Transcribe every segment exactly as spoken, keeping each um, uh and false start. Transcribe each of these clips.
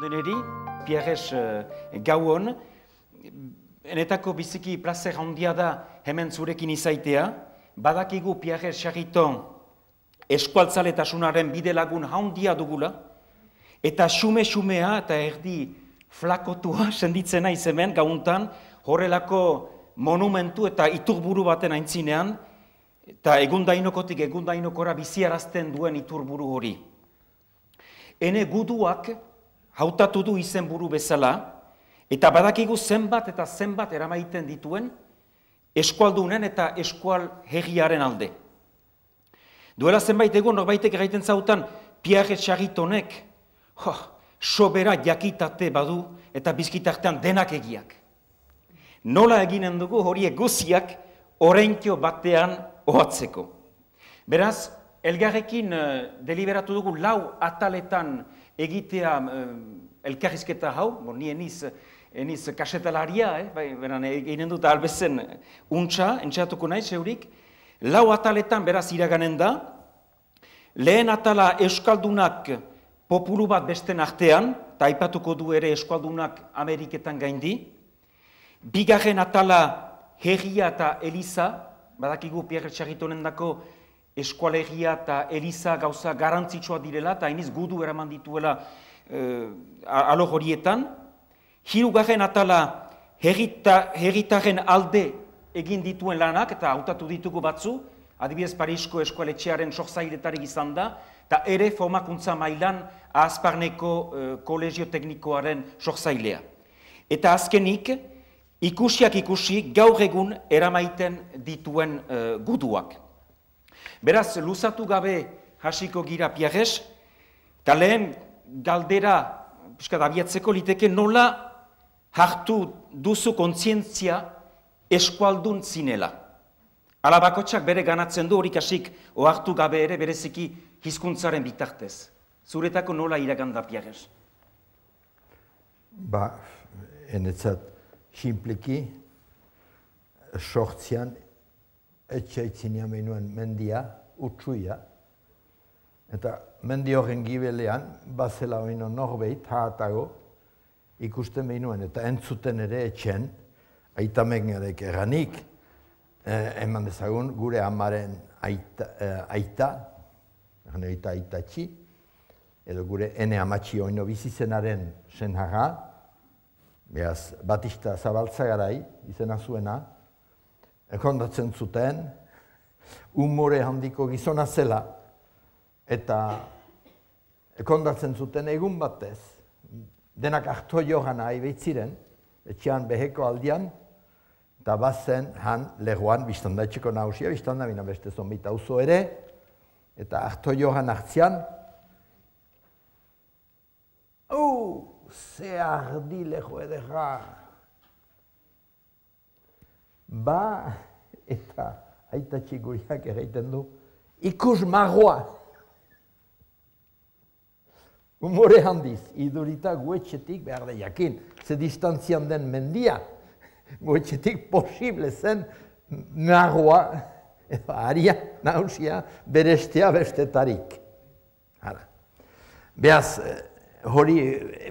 deneri, Pierres gauon, enetako biziki plazer handia da hemen zurekin izaitea, badakigu Pierres Charriton eskualtzaletasunaren bide lagun handia dugula, eta xume-xumea eta erdi flakotua senditzena izemen gauntan, horrelako monumentu eta iturburu baten aintzinean, eta egundainokotik egundainokora biziarazten duen iturburu hori. Ene guduak hautatu du izenburu bezala, eta badakigu zenbat eta zenbat eramaiten dituen eskualdunen eta eskual herriaren alde. Duela zenbait egun norbaitek erraiten zautan Pierres Charritonek oh, sobera jakitate badu eta bizkitartean denak egiak. Nola eginen dugu horiek guziak oraintxo batean ohatzeko. Beraz, elgarrekin uh, deliberatu dugu lau ataletan egitea uh, elkarrizketa hau, bon, ni eniz, eniz kasetalaria, eh? Bai, beran eginen dut albezen untxa, entxatuko nahi zeurik, lau ataletan beraz iraganen da, lehen atala euskaldunak populu bat besten artean, eta aipatuko du ere euskaldunak Ameriketan gaindi, bigarren atala herria eta eliza, badakigu Pierres Charritonen dako eskualegia eta eliza gauza garantzitsua direla, eta hainiz gudu eraman dituela eh, alo horietan. Hirugarren atala herritaren alde egin dituen lanak, eta hautatu ditugu batzu, adibidez Parisko eskualetxearen sortzailetarik izan da, eta ere formakuntza mailan Ahazparneko eh, kolegio teknikoaren sortzailea. Eta azkenik, ikusiak ikusi gaur egun eramaiten dituen uh, guduak. Beraz, luzatu gabe hasiko gira Pierres, eta lehen galdera piskat abiatzeko liteke nola hartu duzu kontzientzia eskualdun zinela. Ala bakotxak bere ganatzen du horik hasik ohartu gabe ere bereziki hizkuntzaren bitartez. Zuretako nola iraganda Pierres? Ba, enetzat simpliki, sortzian, etxaitzinean behinuen mendia, utsuia, eta mendi horren gibelean, bazela behinuen norbeit, haatago, ikusten behinuen, eta entzuten ere etxen, aitamengarek erranik, eh, eman dezagun gure amaren aita, eh, aita, aita aitatxi, edo gure ene amatxi oino bizizenaren senharra, beaz, Batista Zabaltzagarai, izena zuena, kondatzen zuten, umore handiko gizona zela, eta kondatzen zuten egun batez, denak harto johan nahi behitziren, etxean beheko aldian, eta bazen han legoan, biztanda etxeko nahusia, biztanda bina beste zonbita auzo ere, eta harto johan hartzian, oh, ze ardi leho edera. Ba, eta aitatxi guriak erraiten du, ikus marroa. Umore handiz, idurita guetxetik behar da jakin, ze distantzian den mendia, guetxetik posible zen marroa, edo aria, nausia, berestea bestetarik. Hala. Beaz, hori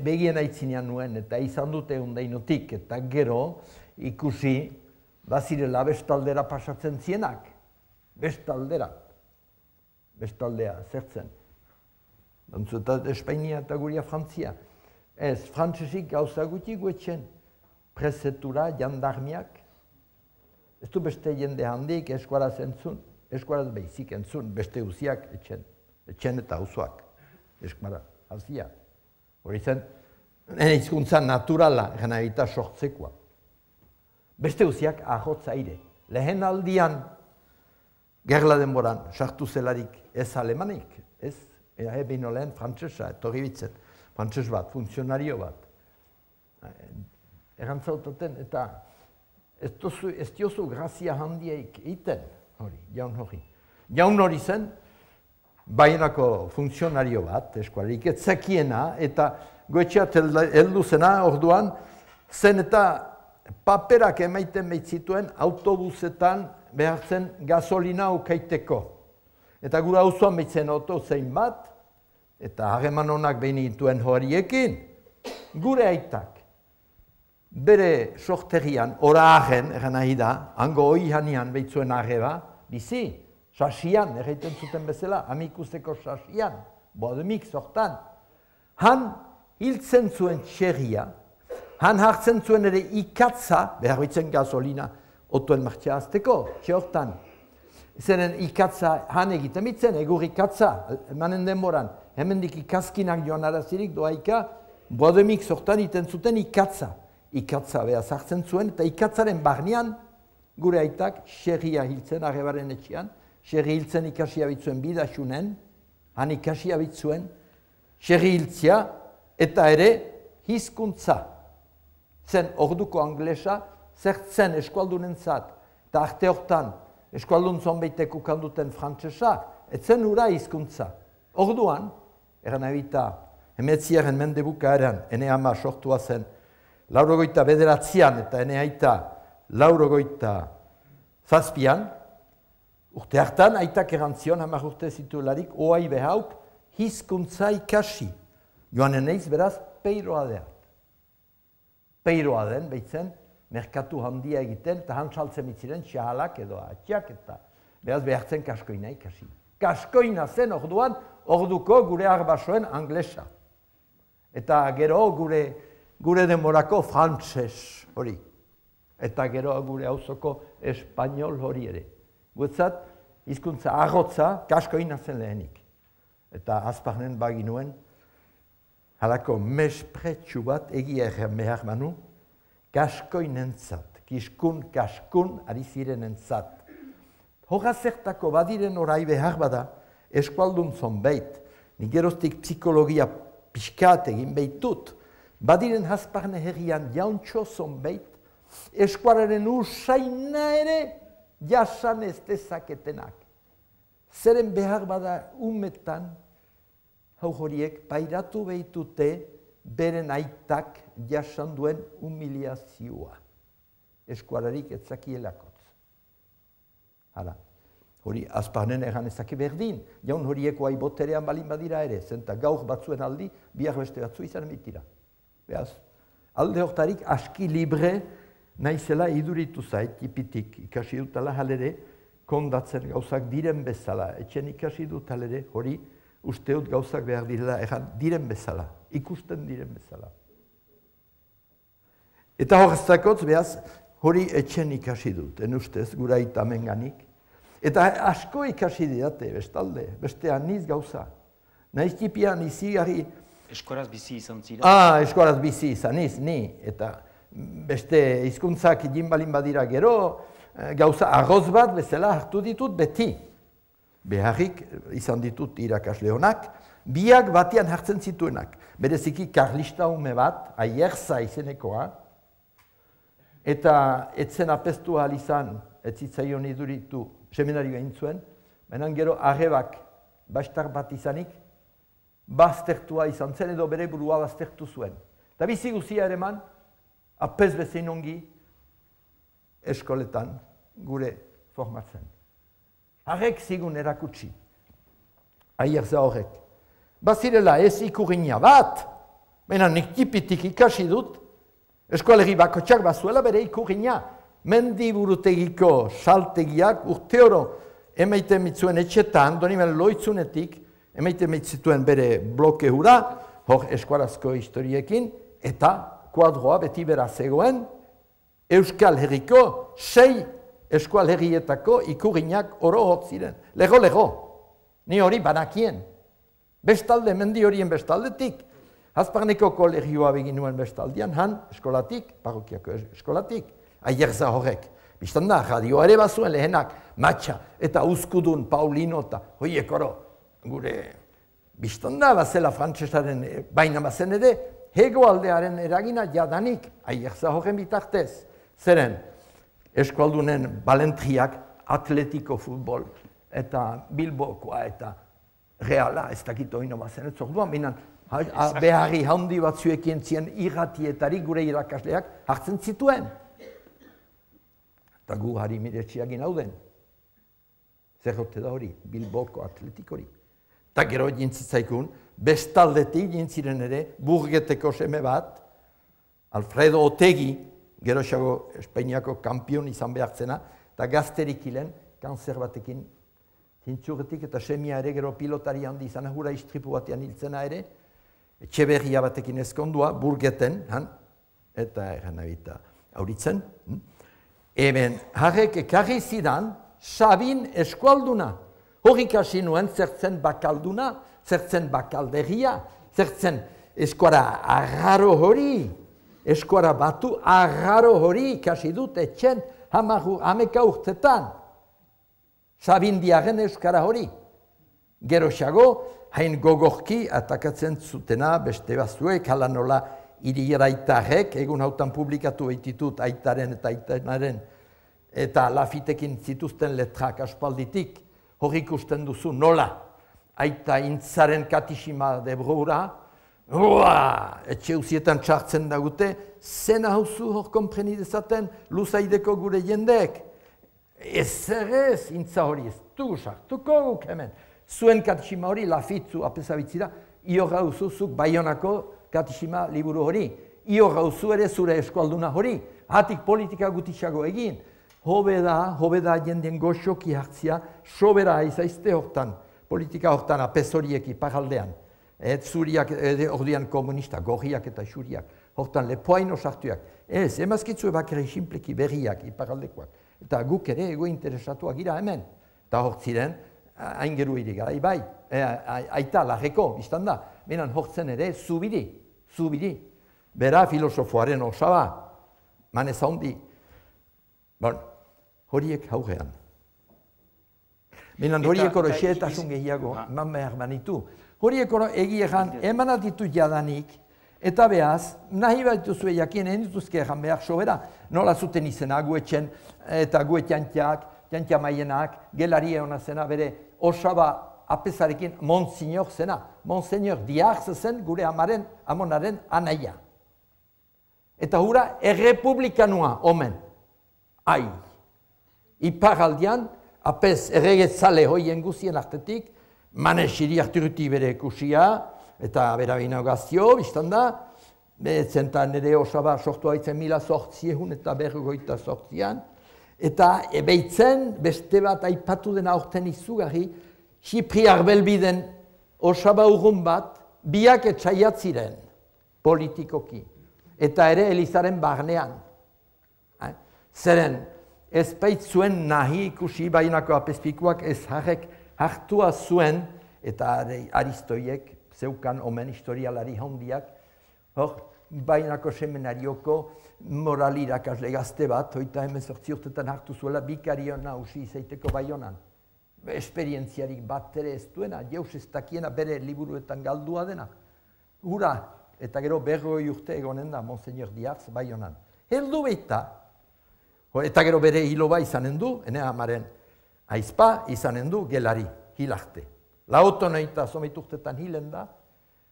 begien aitzinean nuen, eta izan dute undainotik, eta gero ikusi bazirela bestaldera pasatzen zienak. Bestaldera. Bestaldea, zertzen. Dantzuetat Espainia eta guria Frantzia. Ez, frantzesik gauza guti guetxen. Prezetura, jandarmiak. Ez du beste jende handik eskuaraz entzun. Eskuaraz behizik entzun, beste uziak etxen. Etxen eta auzoak. Eskuara, hazia. Hori zen, nire hizkuntza naturala, gana eta sortzekoa. Beste uziak ahotz aire. Lehen aldian, gerla denboran, sartu zelarik ez alemanik, ez? Ea behin lehen frantzesa, etorri bitzen, frantzes bat, funtzionario bat. Erantzautaten, eta ez, tozu, ez diozu grazia handiaik iten, hori, jaun hori. Jaun hori zen, bainako funtzionario bat, eskualik, ez zekiena, eta goetxeat heldu zena, orduan, zen eta paperak emaiten behitzituen autobusetan behartzen gasolina ukaiteko. Eta gura auzoan behitzen auto zein bat, eta harreman honak behin dituen horiekin, gure aitak, bere sorterian, oragen, egan nahi da, hango hoi hanian behitzuen arreba, bizi, sasian, erraiten zuten bezala, amikuzeko sasian, boademik sortan. Han hiltzen zuen txerria, han hartzen zuen ere ikatza, behar bitzen gasolina, otuen martxea azteko, txortan. Zeren ikatza han egiten bitzen, egur ikatza, emanen denboran, hemendik ikazkinak joan arazirik doaika, boademik sortan iten zuten ikatza. Ikatza behaz hartzen zuen, eta ikatzaren barnean, gure aitak, xerria hiltzen, arrebaren etxean, xerri hiltzen ikasi abitzuen bidasunen, han ikasi abitzuen, xerri hiltzia, eta ere, hizkuntza. Zen orduko anglesa, zertzen eskualdunen zat, eta arte hortan, eskualdun zonbeitek ukanduten frantsesak, etzen ura hizkuntza. Orduan, eran ebita, emetziaren mendebuka eran, ene ama sortua zen, laurogoita bederatzean eta ene aita laurogoita zazpian, urte hartan, aitak erantzion, hamar urte zituelarik, oai behauk, hizkuntza ikasi. Joan eneiz, beraz, peiroa deat. Peiroa den, behitzen, merkatu handia egiten, eta han saltzen mitziren, txahalak edo atxak, eta beraz behartzen kaskoina ikasi. Kaskoina zen orduan, orduko gure arbasoen anglesa. Eta gero gure, gure demorako frantses hori. Eta gero gure auzoko espainol hori ere. Guetzat, hizkuntza arrotza, kaskoina zen lehenik. Eta azparnen baginuen, halako mespretsu bat egia erren behar manu, kaskoinentzat, kiskun, kaskun, ari zirenentzat. Hoga zertako badiren orai behar bada, eskualdun zonbeit, nik geroztik psikologia pixkat egin behitut, badiren hasparne herrian jauntxo zonbeit, eskuararen usaina ere jasan ez dezaketenak. Zeren behar bada umetan, hau horiek, pairatu behitute beren aitak jasan duen humiliazioa. Eskuararik etzakielakotz. Hala, hori azparnen egan ezake berdin, jaun horieko ai boterean balin badira ere, zenta gaur batzuen aldi, biak beste batzu izan mitira. Beaz, alde hortarik aski libre naizela iduritu zait, ipitik ikasi dutala halere, kondatzen gauzak diren bezala, etxen ikasi dut halere, hori usteut gauzak behar direla, egan diren bezala, ikusten diren bezala. Eta horreztakotz, behaz, hori etxen ikasi dut, en ustez, gura itamenganik. Eta asko ikasi didate, bestalde, beste aniz gauza. Naiz tipian izigarri... Eskoraz bizi izan zira? Ah, eskoraz bizi izan iz, ni. Eta beste hizkuntzak egin balin badira gero, gauza arroz bat bezala hartu ditut beti. Beharrik izan ditut irakasle honak, biak batian hartzen zituenak. Bereziki karlista ume bat, aierza izenekoa, eta etzen apestu ahal izan, ez zitzaion iduritu seminarioa intzuen, baina gero arrebak bastar bat izanik, baztertua izan zen edo bere burua baztertu zuen. Eta bizi guzia ere man, apez bezein ongi eskoletan gure formatzen. Harrek zigun erakutsi, aierza horrek. Bazirela ez ikurriña bat, baina nik tipitik ikasi dut, eskualerri bakotxak bazuela bere ikurriña. Mendiburutegiko saltegiak urte oro emaiten mitzuen etxetan, donimen loitzunetik, emaiten mitzituen bere bloke hura, hor eskuarazko historiekin, eta kuadroa beti bera zegoen, Euskal Herriko sei eskual herrietako ikurriñak oro hot ziren. Lego, lego, ni hori banakien. Bestalde, mendi horien bestaldetik, Azparneko kolegioa beginuen bestaldian, han eskolatik, parrokiako eskolatik, aierza horrek. Bistan da, radioa ere bazuen lehenak, matxa eta uzkudun, Paulino eta hoiek oro, gure bistan da, bazela frantsesaren baina bazen ere, hego aldearen eragina jadanik, aierza horren bitartez. Zeren, eskualdunen balentriak, atletiko futbol, eta Bilbokoa eta Reala, ez dakit oino bazen, ez orduan, binan, beharri handi batzuekin zien irratietarik gure irakasleak hartzen zituen. Eta gu harri miretxiagin hauden. Zerrote da hori, Bilboko atletik hori. Eta gero jintzitzaikun, bestaldetik jintziren ere, burgeteko seme bat, Alfredo Otegi, geroxago Espainiako kampion izan behartzena, eta gazterik hilen, kanzer batekin, zintxurretik eta semia ere gero pilotari handi izan, hura istripu batean hiltzena ere, etxeberria batekin ezkondua, burgeten, han, eta eran abita auritzen. Eben, harrek ekarri zidan, Sabin eskualduna. Horrik hasi nuen zertzen bakalduna, zertzen bakalderia, zertzen eskuara agarro hori, eskuara batu agarro hori ikasi dut etxen hameka urtetan. Sabindiaren euskara hori. Geroxago, hain gogorki atakatzen zutena beste bazuek, hala nola iriaraitarrek, egun hautan publikatu behititut aitaren eta aitenaren, eta lafitekin zituzten letrak aspalditik, hor ikusten duzu nola, aita intzaren katixima debrura, etxe uzietan txartzen dagute, zena hauzu hor kompreni dezaten luzaideko gure jendeek. Ez errez, intza hori ez dugu sartuko guk hemen. Zuen katixima hori lafitzu apesabitzira, io gauzuzuk Baionako katixima liburu hori. Io gauzu ere zure eskualduna hori. Hatik politika gutitxago egin. Hobe da, hobe da jendien goxoki hartzia, sobera izaizte hortan, politika hortan apes horiek iparaldean. Et zuriak, ordean komunista, gorriak eta xuriak, hortan lepoaino sartuak. Ez, emazkitzu ebakere simpleki berriak iparaldekoak. Eta guk ere ego interesatuak gira hemen. Eta hortziren, hain geru iri gara, bai, aita larreko, biztan da, benan hortzen ere zubiri, zubiri. Bera filosofoaren osaba, manez handi. Bon, horiek haugean. Benan horiek oro xeetasun gehiago, eman behar banitu. Horiek oro egiegan emanat ditu jadanik, eta behaz, nahi bat duzue jakien, egin dituzke egan behar sobera, nola zuten izena guetxen, eta guetxantiak, jantia maienak, gelari eona zena, bere osaba apesarekin Monsignor zena. Monsignor Diarz zen gure amaren, amonaren anaia. Eta hura errepublikanua, omen. Ai. Iparaldian, apes erregetzale hoien guzien artetik, Manes iriarturuti bere kusia, eta bera binagazio, biztan da, zentan nire osaba sortu haitzen mila sortziehun eta berrogoita sortzian, eta ebeitzen beste bat aipatu dena aurten izugarri, Xipriar belbiden osaba urrun bat, biak etxaiatziren politikoki, eta ere Elizaren barnean. Zeren, ez baitzuen nahi ikusi bainako apespikuak ez harrek hartua zuen, eta Aristoiek, zeukan omen historialari handiak, hor, bainako seminarioko moral irakasle gazte bat, hoita hemezortzi urtetan hartu zuela, bikarion nausi izaiteko Baionan. Esperientziarik bat ere ez duena, jauz ez dakiena bere liburuetan galdua dena. Hura, eta gero berroi urte egonen da, Monsignor Diarz, Baionan. Heldu beita, eta gero bere hiloba izanen du, ene amaren aizpa izanen du gelari, hilarte. Lauto noita somit urtetan hilen da,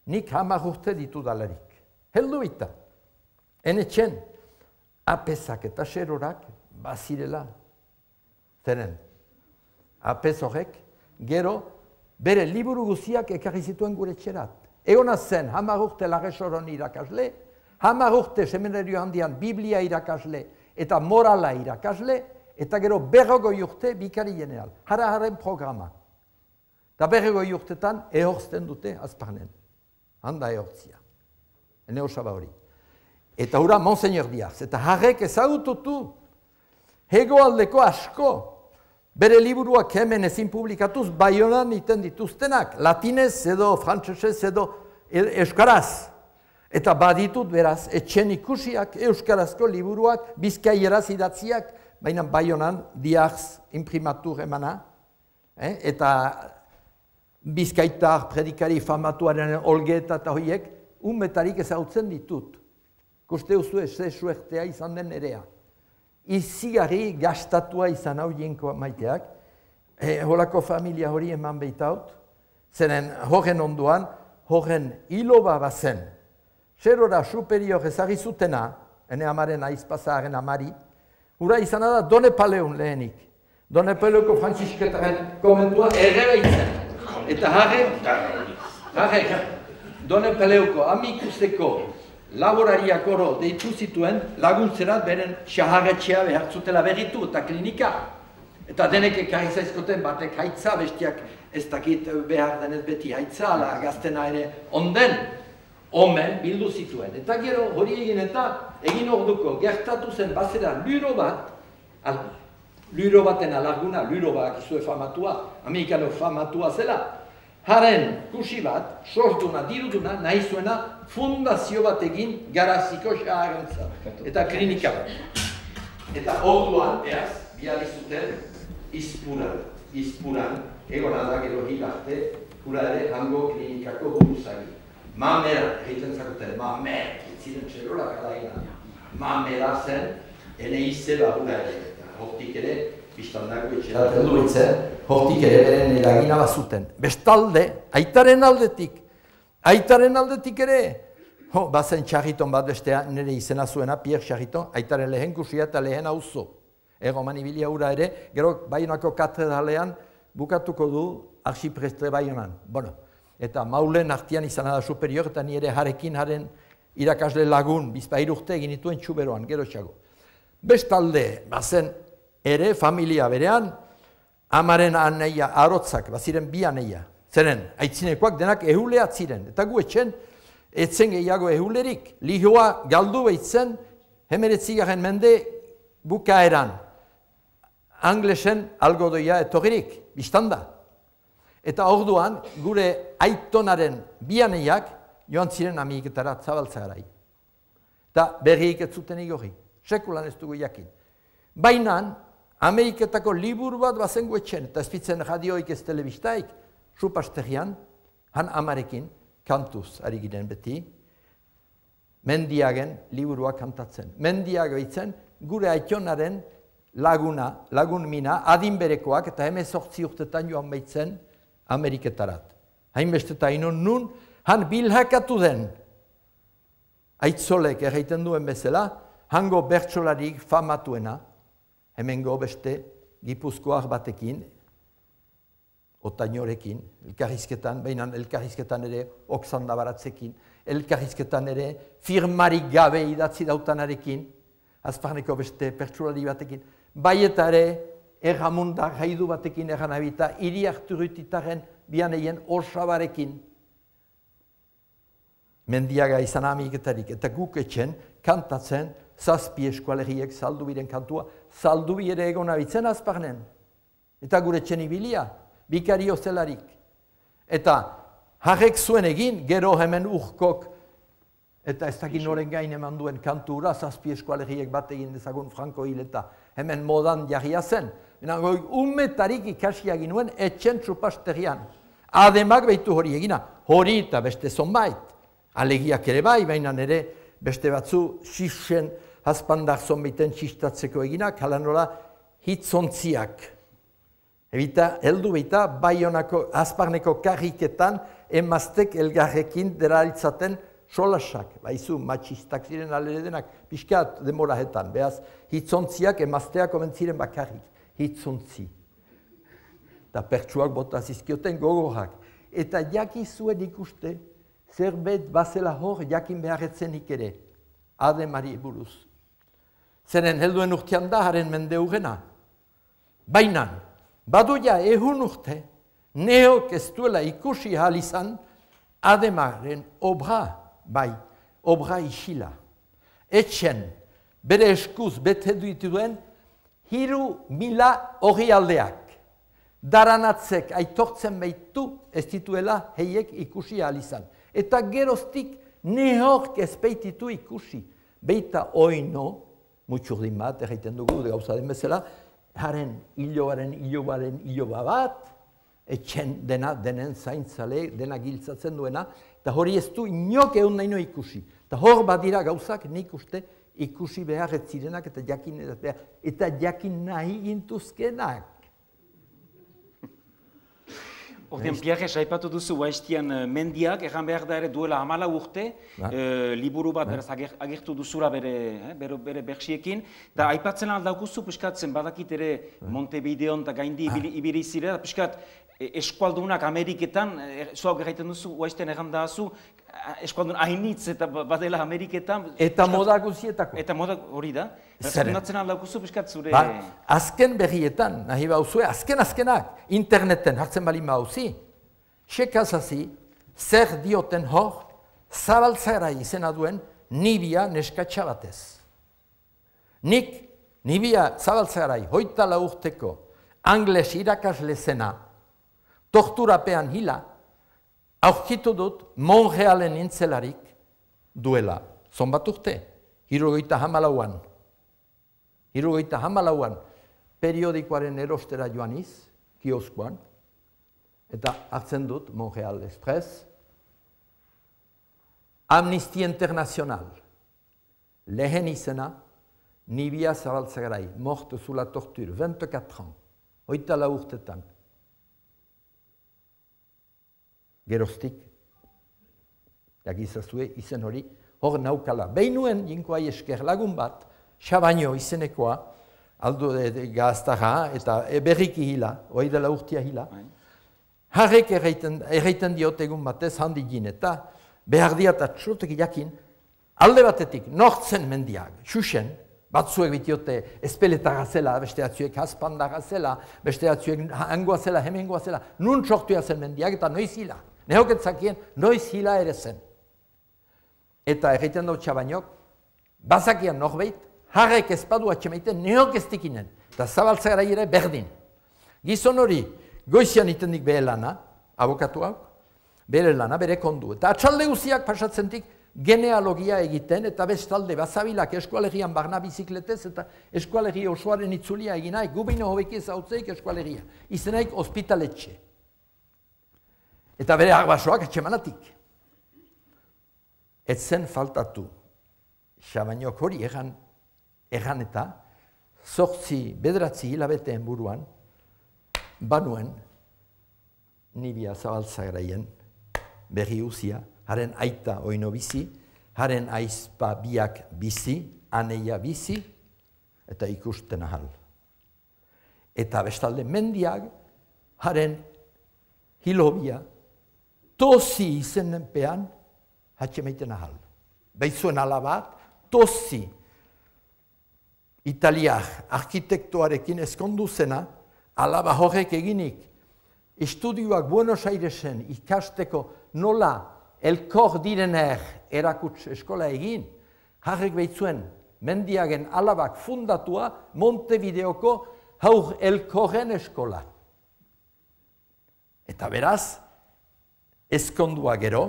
nik hamar urte ditu dalarik. Heldu beita. Ene txen, apesak eta xerorak bazirela. Zeren, apes horrek, gero, bere liburu guziak ekarri zituen gure txerat. Egonaz zen, hamar urte Larresoron irakasle, hamar urte seminario handian Biblia irakasle eta morala irakasle, eta gero berrogoi urte bikari general. Hara-haren programa. Eta berrogoi urtetan ehorzten dute azparnen. Handa ehortzia. Ene osaba hori. Eta hura Monsignor Diarz. Eta harrek ezagututu. Hegoaldeko asko. Bere liburuak hemen ezin publikatuz Baionan iten dituztenak. Latinez edo frantsesez edo euskaraz. Eta baditut beraz, etxen ikusiak euskarazko liburuak, bizkaieraz idatziak, baina Baionan Diarz imprimatur emana, eh? Eta bizkaitar predikari famatuaren olgeta eta horiek, unbetarik ezagutzen ditut. Kuste uzu ez suertea izan den nerea. Izigarri gastatua izan hau jenko maiteak, eh, holako familia hori eman behitaut, zeren horren onduan, horren hiloba bazen, zerora superior ezagri zutena, ene amaren aizpazaren amari, hura izan da Done Paleun lehenik. Done Paleuko Frantzisketaren komentua ere behitzen. Eta harre, harre, Done Paleuko amikusteko laborariak oro deitu zituen laguntzerat beren xaharretxea behar zutela berritu eta klinika. Eta denek ekarri zaizkoten batek haitza, bestiak ez dakit behar denez beti haitza, ala gaztena ere onden, omen bildu zituen. Eta gero hori egin eta egin orduko gertatu zen bazera luro bat, luro baten alarguna, luro bat izue famatua, amerikano famatua zela, haren kusi bat, sortuna, diruduna, nahi zuena fundazio bat egin garaziko xaharantza eta klinika bat. Eta orduan, eaz, bihar izuten, izpuran, izpuran, egon da gero hilarte, hura ere hango klinikako buruzagi. Mamera, egiten zakuten, mamera, itziren txerolak alaina. Mamera zen, ene izela hura ere, eta hortik ere, biztandako etxeratzen duitzen, hortik ere beren eragina bazuten. Bestalde, aitaren aldetik, aitaren aldetik ere, ho, bazen Txarriton bat bestea, nire izena zuena, Pierre Txarriton, aitaren lehen kusia eta lehen auzo. Egoman ibilia hura ere, gero Baionako katedralean bukatuko du arxiprestre Baionan. Bueno, eta maulen artian izan da superior, eta nire jarekin haren irakasle lagun, bizpair urte egin dituen txuberoan, gero txago. Bestalde, bazen ere, familia berean, amaren aneia, arotzak, baziren bi aneia. Zeren, aitzinekoak denak ehuleat ziren, eta gu etxen, etzen gehiago ehulerik. Lihoa galdu behitzen, hemeretzigaren mende bukaeran. Anglesen algodoia etorririk, biztanda. Eta orduan, gure aitonaren bianeiak joan ziren Ameriketara zabaltzarai. Eta berriik ez zuten igorri, sekulan ez dugu jakin. Baina, Ameriketako liburu bat bazen guetxen, eta ezpitzen radioik ez telebistaik, supasterrian, han amarekin, kantuz ari giren beti, Mendiagen liburua kantatzen. Mendiago itzen, gure aitonaren laguna, lagun mina, adinberekoak eta hemezortzi urtetan joan behitzen Ameriketarat. Hainbesteta inon nun, han bilhakatu den, aitzolek erraiten duen bezala, hango bertsolarik famatuena, hemengo beste gipuzkoak batekin, otainorekin, elkarrizketan, baina elkarrizketan ere oksanda baratzekin, elkarrizketan ere firmarik gabe idatzi dautanarekin, azparneko beste pertsolari batekin, bai eta ere erramundar haidu batekin erranabita, hiri harturutitaren bianeien osabarekin. Mendiaga izan Ameriketarik eta guk etxen kantatzen zazpi eskualeriek saldubiren kantua, saldubi ere egona bitzen azparnen. Eta gure etxen ibilia, bikario zelarik. Eta harrek zuen egin, gero hemen urkok, eta ez dakit noren gain eman duen kantura, zazpi eskualeriek bat egin dezagun Franko hil eta hemen modan jarria zen. Umetarik ikasiak ginuen etxen txupasterrian. Ademak behitu hori egina, hori eta beste zonbait. Alegiak ere bai, baina nire beste batzu xixen hazpandar zonbaiten txistatzeko eginak, hala nola hitzontziak. Ebita, heldu behita, Baionako azparneko karriketan emaztek elgarrekin deralitzaten solasak. Baizu, matxistak ziren alere denak, pixkat demorahetan. Beaz, hitzontziak emazteak omentziren bakarrik. Hitzontzi. Eta pertsuak bota zizkioten gogorak. Eta jakizuen ikuste, zerbait bazela hor jakin beharretzenik ere. Ademari buruz. Zeren helduen urtean da haren mende urrena. Baina, baduia ehun urte, neok ez duela ikusi ahal izan, Ademaren obra, bai, obra isila. Etxen, bere eskuz bete dituen, hiru mila hori aldeak. Daranatzek aitortzen behitu ez dituela heiek ikusi ahal izan. Eta geroztik neok ez behititu ikusi. Beita oino, mutxurdin bat, erraiten dugu, gauza den bezala, haren hiloaren, hilobaren, hiloba bat, etxen dena, denen zaintzale, dena giltzatzen duena, eta hori ez du inok egun nahi no ikusi. Eta hor badira gauzak nik uste ikusi behar ez zirenak eta jakin behar, eta jakin nahi gintuzkenak. Ordean, Pierre, saipatu duzu Baestian mendiak, erran behar da ere duela hamala urte, liburu bat beraz agertu duzula bere berxiekin, eta aipatzen aldaukuzu, piskatzen badakit ere Montevideon eta gaindi ibili zire, piskat eskualdunak Ameriketan, zuak erraiten duzu, Baestian erran dazu, eskualdun hainitz eta badela Ameriketan. Eta moda guzietako. Eta moda hori da. Zeren. Natzen aldaukuzu piskat zure... Ba, azken berrietan, nahi bauzue, azken azkenak, interneten hartzen bali mauzi, sekazazi, zer dioten hor, zabaltzara izena duen, Nibia neskatxa batez. Nik, Nibia zabaltzarai, hoita lau urteko, angles irakasle zena, torturapean hila, aurkitu dut Montrealen intzelarik duela. Zonbat urte, hirurogeita hamalauan. Hirurogeita hamalauan periodikoaren erostera joaniz, kioskoan, eta hartzen dut Montreal Express, Amnistia Internacional, lehen izena, Nibia Zabaltzagarai, morte sous la torture, vingt-quatre ans, hoita lau urtetan. Geroztik, jakizazue izen hori, hor naukala. Behinuen, jinkoai esker lagun bat, Xabaino izenekoa, aldo gaztaja eta berriki hila, hoi dela urtia hila, harrek erraiten diot egun batez handi gin eta behar diatat txotek jakin, alde batetik, nortzen mendiak, xuxen, batzuek bitiote espeleta zela, beste atzuek haspanda zela, beste atzuek hangoa zela, hemengoa zela, nun txortuia zen mendiak eta noiz hila. Nehoketzakien, noiz hila ere zen. Eta erraiten dut Xabainok, bazakian norbeit, harrek ezpadu atxemaiten nehok ez dikinen, eta Zabaltzagarai ere berdin. Gizon hori, goizian itendik behe lana, abokatu hau, bere lana, bere kondu. Eta atxalde guziak pasatzentik genealogia egiten, eta bestalde bazabilak eskualegian barna bizikletez, eta eskualegia osoaren itzulia eginaik, gubino hobeki ezautzeik eskualegia. Izenaik ospitaletxe. Eta bere arbasoak atxemanatik. Etzen faltatu, Xabainok hori egan, egan eta, zortzi, bederatzi hilabeteen buruan, banuen, Nibia Zabaltzagaraien berri uzia, haren aita oino bizi, haren aizpa biak bizi, aneia bizi, eta ikusten ahal. Eta bestalde mendiak, haren hilobia, tozi izenenpean, hatxemaiten ahal. Beizuen alabat, tozi, italiak arkitektoarekin eskondu zena, alaba horrek eginik, estudioak Buenos Airesen ikasteko nola elkor direner erakuts eskola egin, harrek behitzuen mendiagen alabak fundatua Montevideoko haur elkorren eskola. Eta beraz, ezkondua gero,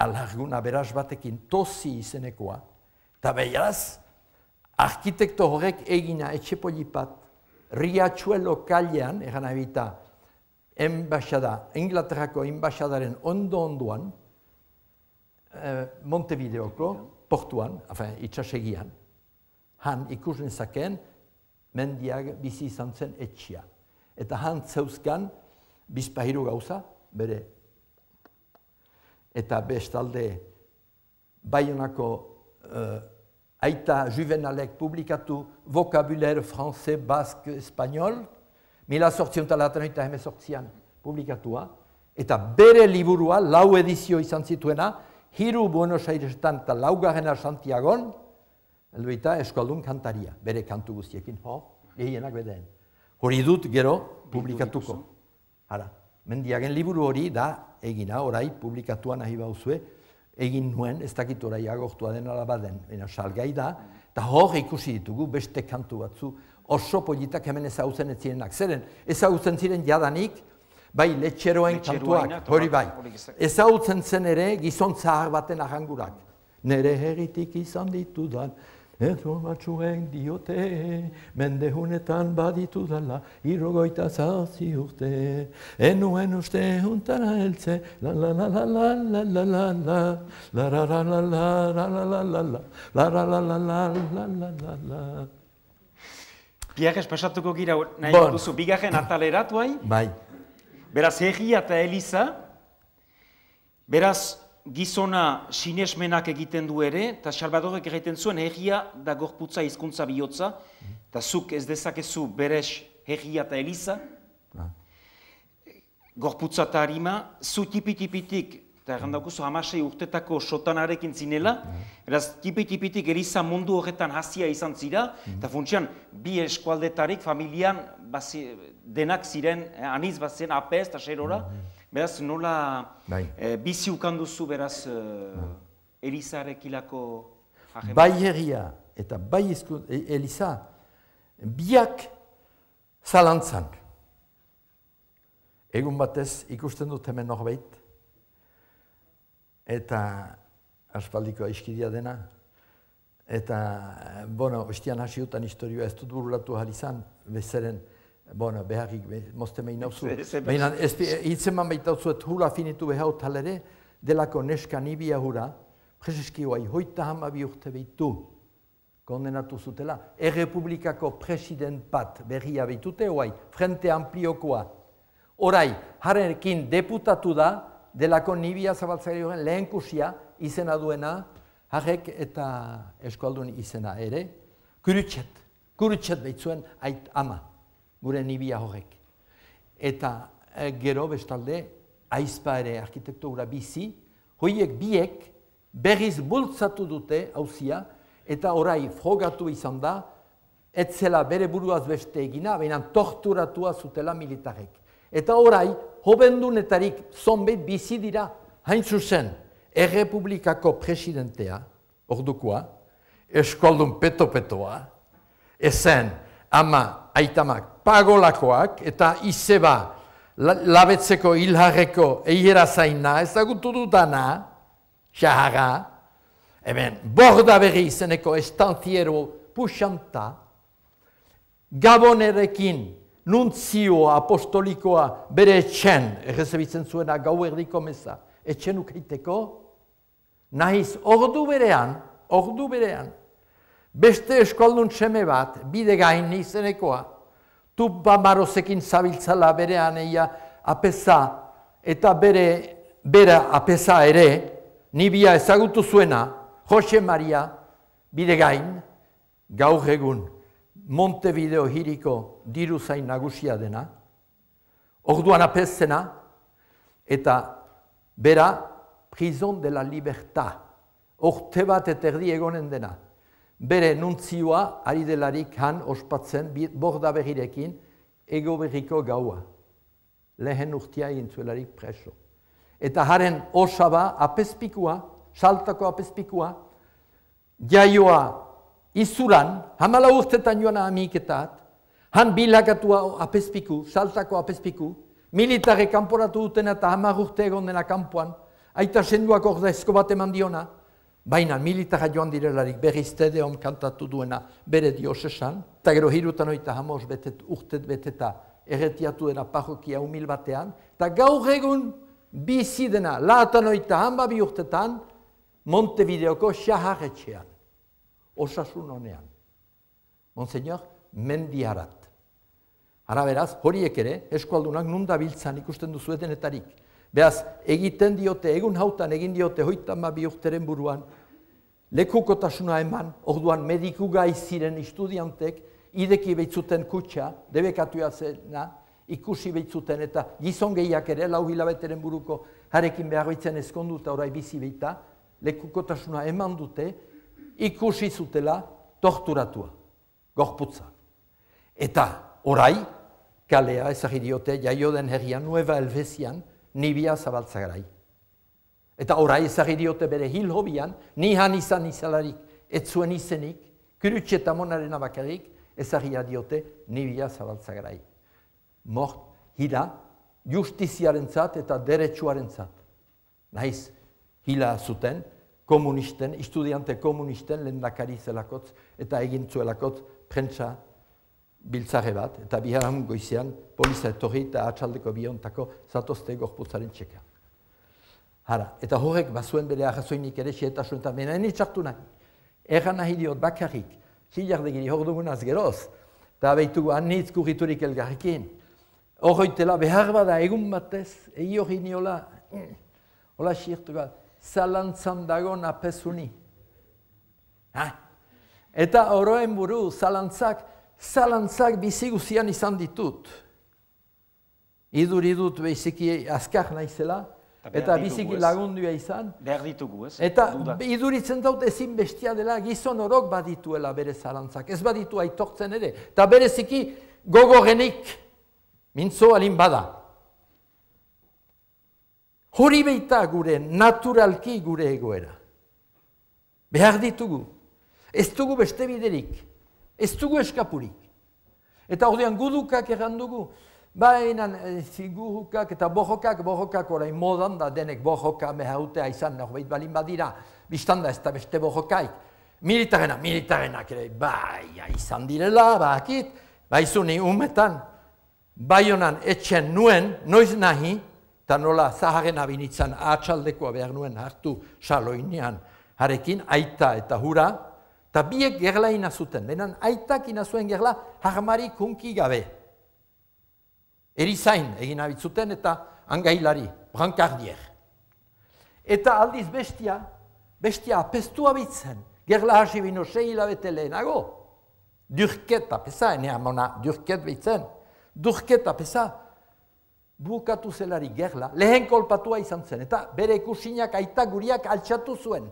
alarguna beraz batekin tozi izenekoa, eta beraz, arkitekto horrek egina etxepolipat Riachuelo kalean, egan abita, enbaixada, Inglaterrako enbaixadaren ondo-ondoan, eh, Montevideoko, portuan, afen, itxasegian, han ikusen zaken, mendiak bizi izan zen etxia. Eta han zeuzkan, bizpahiru gauza, bere. Eta bestalde, Baionako eh, aita juvenalek publikatu vocabulaire français, basque, espagnol, mila sortzionta laten hemezortzian publikatua, eta bere liburua, lau edizio izan zituena, hiru Buenos Airesetan eta laugarrena Santiagon, elduita eskualdun kantaria, bere kantu guztiekin, hor, gehienak bedeen. Hori dut gero publikatuko. Hala, mendiagen liburu hori da egina, orai publikatua nahi bauzue, egin nuen, ez dakit orai agortua den alabaden, baina salgai da, eta hor ikusi ditugu beste kantu batzu, oso politak hemen ezagutzen ez zirenak. Zeren, ezagutzen ziren jadanik, bai letxeroen kantuak, hori bai. Ezagutzen zen ere gizon zahar baten ahangurak. Nere herritik izan ditudan, ezo batzuek diote, mendehunetan baditudala, irrogoita zazpi urte, enuen uste juntara heltze, la la la la la la la la la, la la la la la la la la la, la la la la la la la la la. Biarrez pasatuko gira nahi duzu, bigarren ataleratu hai? Bai. Beraz, Herria eta Eliza, beraz, gizona sinesmenak egiten du ere, eta Salvadorek egiten zuen Herria da gorputza hizkuntza bihotza, eta zuk ez dezakezu beres Herria eta Eliza, gorputza eta harima, zu tipi-tipitik Eta errandakuzu hamasei urtetako sotanarekin zinela, eraz tipi-tipitik eriza mundu horretan hasia izan zira, eta funtsian bi eskualdetarik familian denak ziren, aniz bat zen apez eta serora, beraz nola bizi ukanduzu beraz erizarekilako hageman? Bai herria eta bai eliza, biak zalantzan. Egun batez ikusten dut hemen norbait, eta aspaldiko aiskidia dena, eta, bueno, ostian hasiutan historioa ez dut burulatu ahal izan, bezeren, bueno, beharrik, mozte mehin nauzu. Baina, hitzeman baitauzuet hula finitu behaut halere, delako neska nibia hura, prezeski hoai, hoita hamabi urte behitu, kondenatu zutela, Errepublikako president bat berria behitute hoai, Frente Ampliokoa. Orai, harekin deputatu da, delako nibia zabaltzari horren lehenkusia izena duena, harrek eta eskualdun izena ere, kurutxet, kurutxet behitzuen ait ama, gure nibia horrek. Eta e, gero bestalde, aizpa ere arkitektura bizi, hoiek biek berriz bultzatu dute hauzia, eta orai frogatu izan da, etzela bere buruaz beste egina, baina torturatua zutela militarek. Eta orai, hobendunetarik zonbait bizi dira, hain zuzen, Errepublikako presidentea, ordukoa, eskualdun peto-petoa, ezen ama, aitamak, pagolakoak, eta izeba, labetzeko, hilharreko, eiera zaina, ezagutu dudana, xaharra, hemen, borda berri izeneko estantiero puxanta, Gabonerekin, nuntzio apostolikoa bere etxen, errezebitzen zuena gau erdiko meza, etxen ukeiteko, nahiz ordu berean, ordu berean, beste eskualdun seme bat, bide gain izenekoa, tupa marozekin zabiltzala berean eia apesa, eta bere, bere apesa ere, nibia ezagutu zuena, Jose Maria, bide gain, gaur egun, Montevideo hiriko diru zain nagusia dena, orduan apezena, eta bera, prison de la libertad, orte bat eterdi egonen dena. Bere nuntzioa, ari delarik han ospatzen, borda berrirekin, ego berriko gaua. Lehen urtia egin zuelarik preso. Eta haren osaba apezpikua, saltako apezpikua, jaioa izuran, hamala urtetan joan amiketat, han bilakatua apezpiku, saltako apezpiku, militare kanporatu duten eta hamar urte egon dena kanpoan, aita senduak orda esko bat eman diona, baina militara joan direlarik berriz tedeon kantatu duena bere diosesan, eta gero hirutan oita hamos betet, urtet beteta erretiatu dena parrokia humil batean, eta gaur egun bizi dena, laatan oita hamabi urtetan, Montevideoko xaharretxean. Osasun honean. Monseñor, mendiarat. Hara beraz, horiek ere, eskualdunak nunda biltzan ikusten duzu denetarik. Beraz, egiten diote, egun hautan egin diote, hoitan bi urteren buruan, lekukotasuna eman, orduan mediku gai ziren estudiantek, ideki behitzuten kutxa, debekatua zena, ikusi behitzuten eta gizon gehiak ere, lau hilabeteren buruko, harekin behar behitzen ezkondu eta orai bizi behita, lekukotasuna eman dute, ikusi zutela torturatua, gorputza. Eta orai, kalea ezagir diote, jaio den herrian, Nueva Helvesian, nibia zabaltzagarai. Eta orai ezagir diote bere hil hobian, ni han izan izalarik, ez zuen izenik, kurutxe eta monaren abakarik, ezagir diote nibia zabaltzagarai. Mort, hila, justiziaren zat eta deretsuaren zat. Nahiz, hila zuten, komunisten, estudiante komunisten lehendakari zelakotz eta egin zuelakotz prentsa biltzare bat, eta biharan goizean poliza etorri eta atxaldeko biontako zatozte gorputzaren txeka. Hara, eta horrek bazuen bere arrazoinik ere xeetasun eta mena enitxartu nahi. Erran nahi diot bakarrik, xillardegiri hor dugunaz geroz, eta behitugu anitz kurriturik elgarrekin. Horroitela behar bada egun batez, egi hori niola, hola xirtu bat, zalantzan dago napezuni. Ha? Eta oroen buru, zalantzak, zalantzak biziguzian izan ditut. Idur idut behiziki azkar naizela, eta biziki lagundua izan. Behar ditugu, ez? Eta iduritzen dut ezin bestia dela gizon orok badituela bere zalantzak. Ez baditu aitortzen ere. Eta bereziki gogorenik mintzo alin bada. Hori beita gure, naturalki gure egoera. Behar ditugu. Ez dugu beste biderik. Ez dugu eskapurik. Eta ordean gudukak errandugu. Baina figurukak eta borrokak, borrokak orain modan da denek borroka mehautea izan norbait balin badira. Bistanda ez da beste borrokaik. Militarena, militarenak ere, bai, izan direla, bakit. Baizuni umetan, Baionan etxen nuen, noiz nahi, eta nola zaharen abinitzan atxaldekoa behar nuen hartu saloinean harekin, aita eta hura, eta biek gerla inazuten. Benan aitak inazuen gerla harmarik hunki gabe. Erizain egin abitzuten eta angailari, brankardier. Eta aldiz bestia, bestia apestu abitzen, gerla hasi bino sei hilabete lehenago. Durket apesa, enea mona durket behitzen, durket apesa, bukatu zelari gerla, lehen kolpatua izan zen, eta bere kusinak aita guriak altxatu zuen.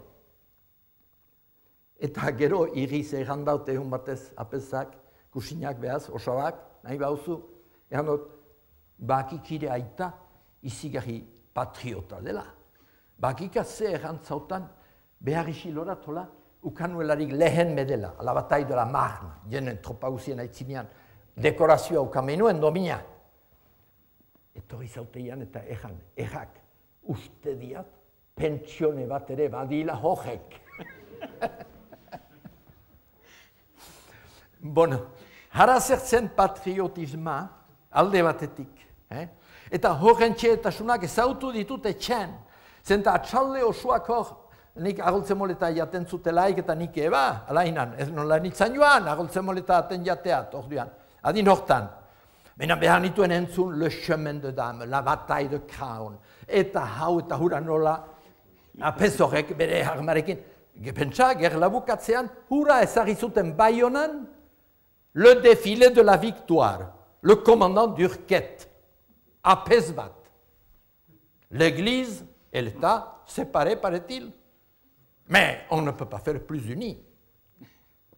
Eta gero iriz errandaute egun batez apesak, kusinak behaz, osabak, nahi bauzu, errandot, bakikire aita izigarri patriota dela. Bakika ze errantzautan behar isilora tola ukanuelarik lehen medela, ala batai de la Marne, jenen tropauzien aitzinean, dekorazioa ukamenuen domina. Etorri zauteian eta erran, errak, uste diat, pentsione bat ere badila hojek. Bueno, hara zertzen patriotisma alde batetik. Eh? Eta horren txetasunak ezautu ditut etxen. Zenta atxalde osoak hor, nik agoltzen moleta jaten zutelaik eta nik eba, alainan, ez nola nintzen joan, agoltzen moleta aten jateat, orduan, adin hortan. Baina behar nituen entzun Le Chemin de Dame, La Bataille de Craon, eta hau eta hura nola, apez horrek bere harmarekin, gepentsa, gerlabukatzean, hura ezagri zuten Baionan, le défilé de la victoire, le commandant d'Urquette, apez bat. L'église et l'État séparés, paraît-il. Mais on ne peut pas faire plus unis.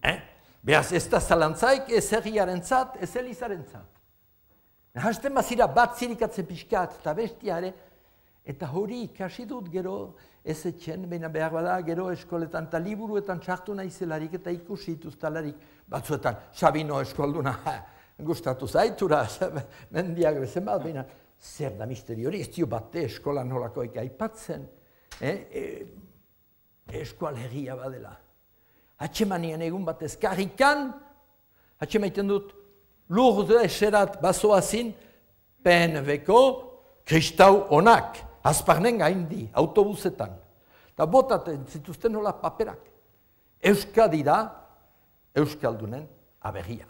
Hein? Beaz, ez da zalantzaik ez herriarentzat, ez elizarentzat. Hasten bazira bat zirikatzen pixkat eta bestiare, eta hori ikasi dut gero ez etxen, baina behar bada gero eskoletan eta liburuetan txartu nahizelarik eta ikusi ituztalarik. Batzuetan, Sabino eskolduna, gustatu zaitura, mendiak bezen bat, baina zer da misteri hori, ez dio bate eskolan nolakoik aipatzen, eh? e, eskual herria badela. Hatxemanian egun batez karrikan, hatxemaiten dut, lurde eserat bazoazin, P N V-ko kristau onak, azparnen gaindi, autobusetan. Eta botaten zituzten nola paperak. Euskadi da, Euskaldunen aberria.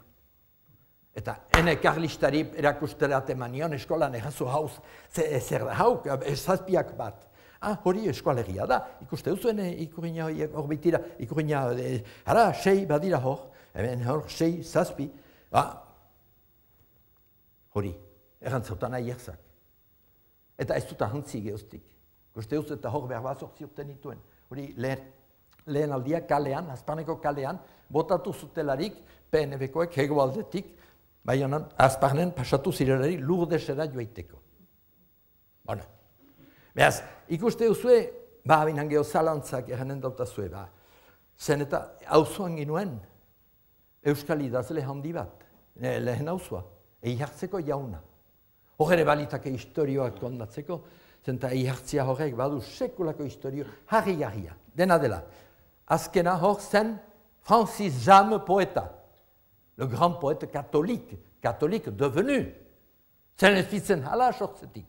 Eta ene karlistari erakusterat emanion eskolan errazu hauz, zer da hau, zazpiak bat. Ah, hori eskualegia da, ikuste duzuen ikurina hor bitira, ikurina, ara, sei badira hor, hemen hor, sei, zazpi, ba, hori, errantzautan aierzak. Eta ez dut ahantzi geoztik. Ikuste duz eta hor behar bat zortziurten dituen. Hori, lehen, lehen aldia kalean, azparneko kalean, botatu zutelarik P N V-koek hegoaldetik, baionan, azparnen pasatu zirelari lurdesera joaiteko. Bona. Beaz, ikuste duzue, ba, binan geho zalantzak eranen dautazue, ba. Zen eta auzoan ginuen, Euskal idazle handi bat, lehen auzua, egi hartzeko jauna. Horre balitake historioak kondatzeko, zen eta egi hartzia horrek badu sekulako historio, harri-harria, dena dela. Azkena hor zen Francis Jame poeta, le grand poète catholique, catholique devenu. Zen ez fitzen hala sortzetik.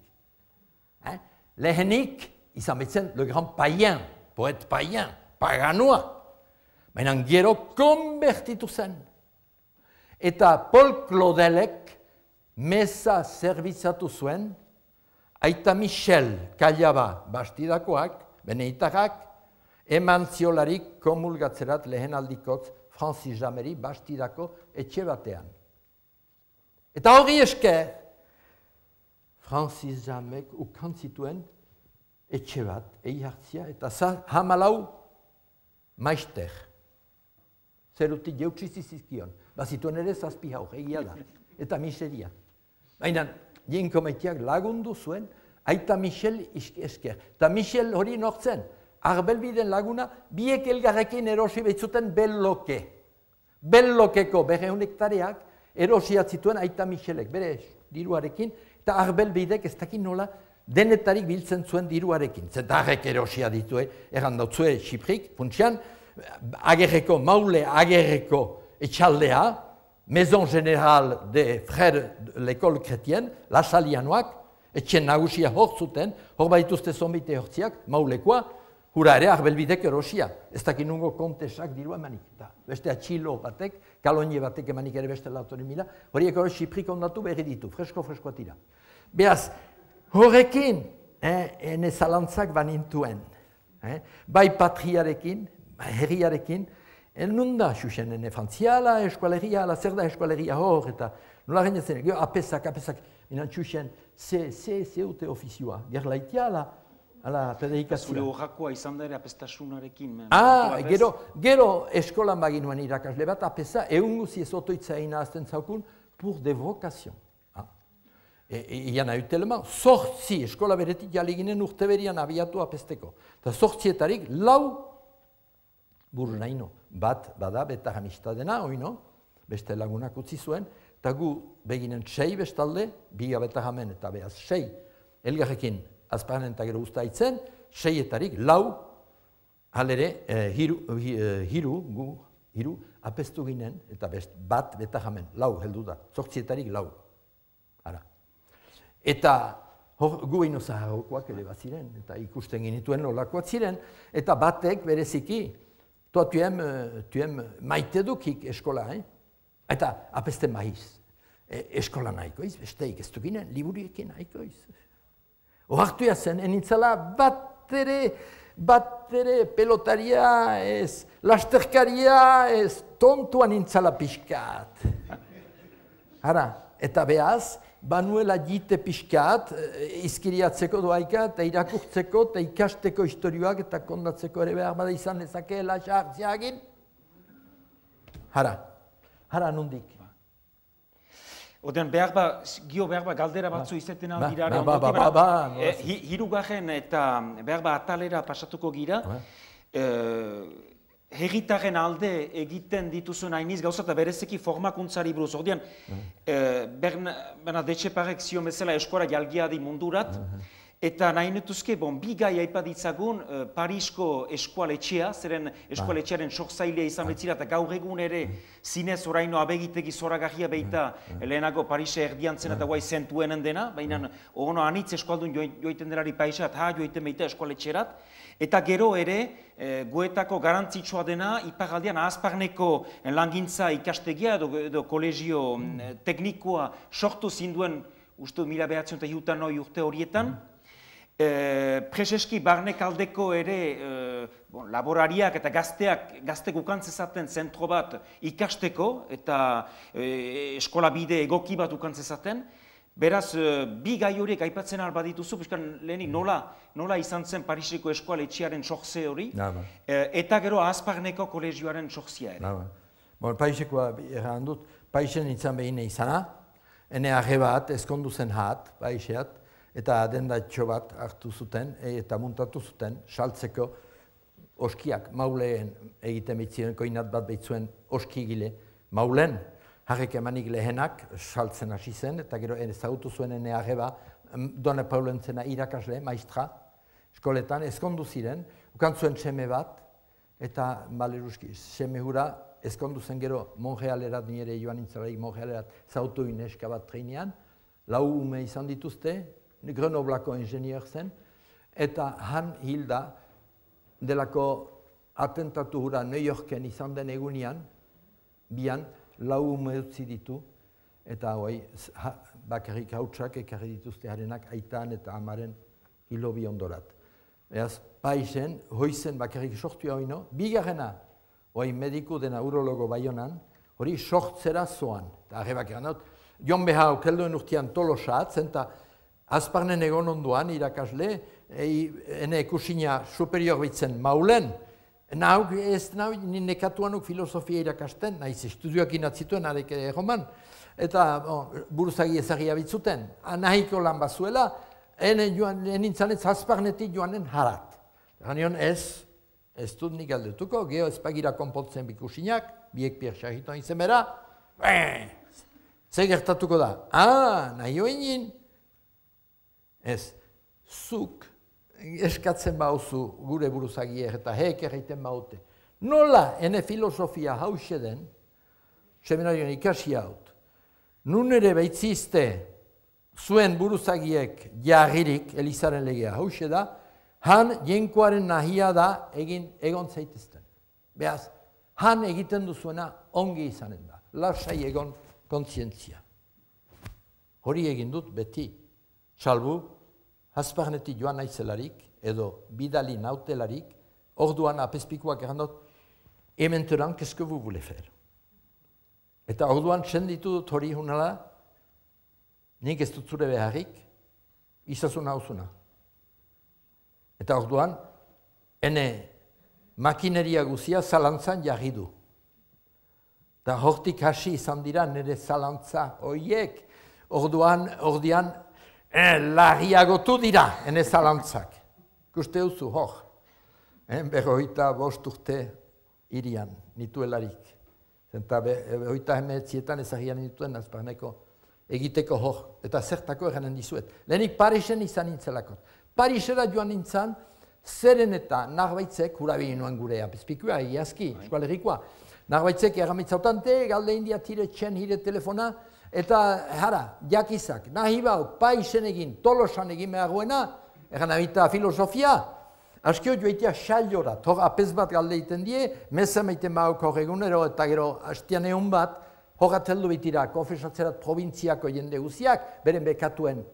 Eh? Lehenik, izan betzen, le grand païen, poète païen, paganoa. Baina gero konbertitu zen. Eta Paul Claudelek meza zerbitzatu zuen, aita Michel Kallaba bastidakoak, beneitarrak, eman ziolarik komulgatzerat lehen aldikotz Francis Jameri bastidako etxe batean. Eta hori esker, Francis Jamek ukan zituen etxe bat, egi hartzia, eta za, hamalau maister. Zerutik jeutsi zizkion. Bazituen ere zazpi hau, egia da. Eta miseria. Baina, jenko maiteak lagundu zuen, aita Michel esker. Eta Michel hori nortzen, Arbelbiden laguna, biek elgarrekin erosi behitzuten belloke. Bellokeko berreun hektareak erosiat zituen aita Michelek, bere diruarekin, eta Arbelbidek ez dakit nola denetarik biltzen zuen diruarekin. Zetarrek erosia ditue, erran dautzue Xiprik, funtsian, agerreko, maule agerreko etxaldea, Maison Générale de Frères de l'École Chrétienne, lasalianoak, etxen nagusia hor zuten, hor baituzte zonbite hortziak, maulekoa, hura ere Arbelbidek erosia. Ez dakit nungo kontesak dirua emanik. Beste atxilo batek, kalonie batek emanik ere beste lautori mila, horiek hori Xiprik ondatu berri ditu, fresko-freskoa tira. Beaz, horrekin, eh, ene zalantzak banintuen. Eh, bai patriarekin, bai herriarekin, nunda, xuxen, ene frantziala, eskualeria, ala zer da eskualeria hor, eta nola genetzen, gero apesak, apesak, minan xuxen, ze, ze, ze ute ofizioa, gerlaitia, ala, ala predikazioa. Zure horrakoa izan da ere apestasunarekin. Ah, gero, gero eskolan baginuen irakasle bat, apesa, egun guzi ez otoitza ina azten zaukun, pour de vocation. Ian ahuteleman, sortzi eskola beretik jaliginen urte berian abiatu apesteko. Eta sortzietarik lau buru naino. Bat, bada, beta jamistadena, oino, beste lagunak utzi zuen, eta gu beginen sei bestalde, biga beta jamen eta behaz sei, elgarrekin azpanen eta gero usta itzen, seietarik lau, halere, eh, hiru, eh, hiru, gu, hiru, apestu ginen, eta best, bat beta jamen, lau heldu da, sortzietarik lau. Ara. Eta hor, gu ino zaharrokoak ere bat ziren, eta ikusten genituen nolakoak ziren, eta batek bereziki, toa tuem, tuem maite dukik eskola, eh? Eta apeste maiz, e, eskola nahikoiz, besteik ez dukinen, liburiekin nahikoiz. Ohartu zen, enintzala bat ere, bat ere pelotaria ez, lasterkaria ez, tontuan nintzala pixkat. Hara, eta behaz, banuela jite pixkat, izkiriatzeko doaika, eta irakurtzeko, eta ikasteko historioak, eta kondatzeko ere behar bada izan ezakeela xartziagin. Hara, hara nondik. Oden, behar ba, gio behar ba, galdera batzu izaten aldira. Ba, ba, ba, ba. Hirugarren eta behar ba, atalera pasatuko gira. Herritaren alde egiten dituzuen hainiz gauza eta berezeki formakuntzari buruz. Ordean, Bernadette Etxeparek zion bezala eskola jalgiadi mundurat, eta nahi netuzke, bon, bi gai aipaditzagun Parisko eskualetxea, zeren eskualetxearen sortzailea izan betzira, eta gaur egun ere zinez oraino abegitegi zoragarria beita lehenago Parise erdiantzen eta guai zentuenen dena, baina ono anitz eskualdun joiten delari paisat, ha joiten beita eskualetxerat, eta gero ere, guetako garantzitsua dena, iparaldean ahazparneko langintza ikastegia edo kolegio teknikoa sortu zinduen, uste mila behatzen eta hiutan noi urte horietan, Prezeski barnek aldeko ere laborariak eta gazteak, gaztek ukantzezaten zentro bat ikasteko eta eskola bide egoki bat ukantzezaten. Beraz, bi gai horiek aipatzen alba dituzu, lehenik nola izan zen Pariseko eskoaletxearen sortze hori, eta gero ahazparneko kolegioaren sortzea ere. Parisekoa erran dut, Parisen izan behin izana, ene arre bat, ezkondu zen hat, Pariseat, eta adendatxo bat hartu zuten eta muntatu zuten saltzeko oskiak, mauleen egiten behitzen, koinat bat behitzuen oskigile maulen, harrek emanik lehenak saltzen hasi zen, eta gero ezagutu zuen ene arreba, Dona Paulentzena irakasle, maistra, eskoletan, ezkondu ziren, ukantzuen seme bat, eta baleruski, seme hura ezkondu zen gero Montrealerat, nire joan nintzalaik Montrealerat, zautu ineska bat treinean, lau ume izan dituzte, Grenoblako ingenier zen, eta han hilda delako atentatu hura New Yorken izan den egunean, bian lau ume utzi ditu, eta hoi bakarrik hautsak ekarri dituzte harenak aitan eta amaren hilobi ondorat. Eaz, Paisen, hoizen bakarrik sortu hau ino, bigarrena, hoi mediku dena urologo Baionan, hori sortzera zoan. Eta arrebak eranot, Jon Behau kelduen urtean tolosat, zenta azparnen egon onduan irakasle, ene kusina superior bitzen maulen, nauk ez nau nekatuanuk filosofia irakasten, naiz estudioak inatzituen arek egoman, eta buruzagi ezagia bitzuten, nahiko lan bazuela, ene nintzen ez azparnetik joanen harat. Ganion ez, ez dut nik aldetuko, geho ez pagira konpontzen bikusinak, biek pier xarritoan izemera, ze gertatuko da? Ah, nahi hoinin, ez, zuk eskatzen bauzu gure buruzagiek eta heek erraiten baute. Nola, ene filosofia hause den, seminarioan ikasi haut, nun ere baitzizte zuen buruzagiek jarririk, Elizaren legea hause da, han jenkoaren nahia da egin egon zaitezten. Beaz, han egiten duzuena ongi izanen da, lasai egon kontzientzia. Hori egin dut beti, salbu, Hasparnetik joan naizelarik, edo bidali nautelarik, orduan apespikuak errandot, ementeran, qu'est-ce que vous voulez faire? Eta orduan senditu dut hori hunala, nik ez dut zure beharrik, izazuna hauzuna. Eta orduan, ene makineria guzia zalantzan jarri du. Eta hortik hasi izan dira nire zalantza horiek, orduan, ordian, Eh, larriagotu dira, ene zalantzak. Kuste duzu, hor. Eh, berroita bost urte irian, nituelarik. Zenta berroita hemeetzietan ezagian nituen azparneko egiteko hor. Eta zertako eranen dizuet. Lehenik Parisen izan nintzelakot. Parisera joan nintzen, zeren eta narbaitzek, hurabili nuen gure apizpikua, egiazki, eskualerikoa. Narbaitzek erramitzautante, galde india tire txen hire telefona, eta jara, jakizak, nahi bau, paisen egin, tolosan egin beharguena, egan abita filosofia, askio joitea xailora, hor apez bat galde iten die, meza meiten bauk hor egunero, eta gero hastian egun bat, hor ateldu bitira, konfesatzerat provintziako jende guziak, beren bekatuen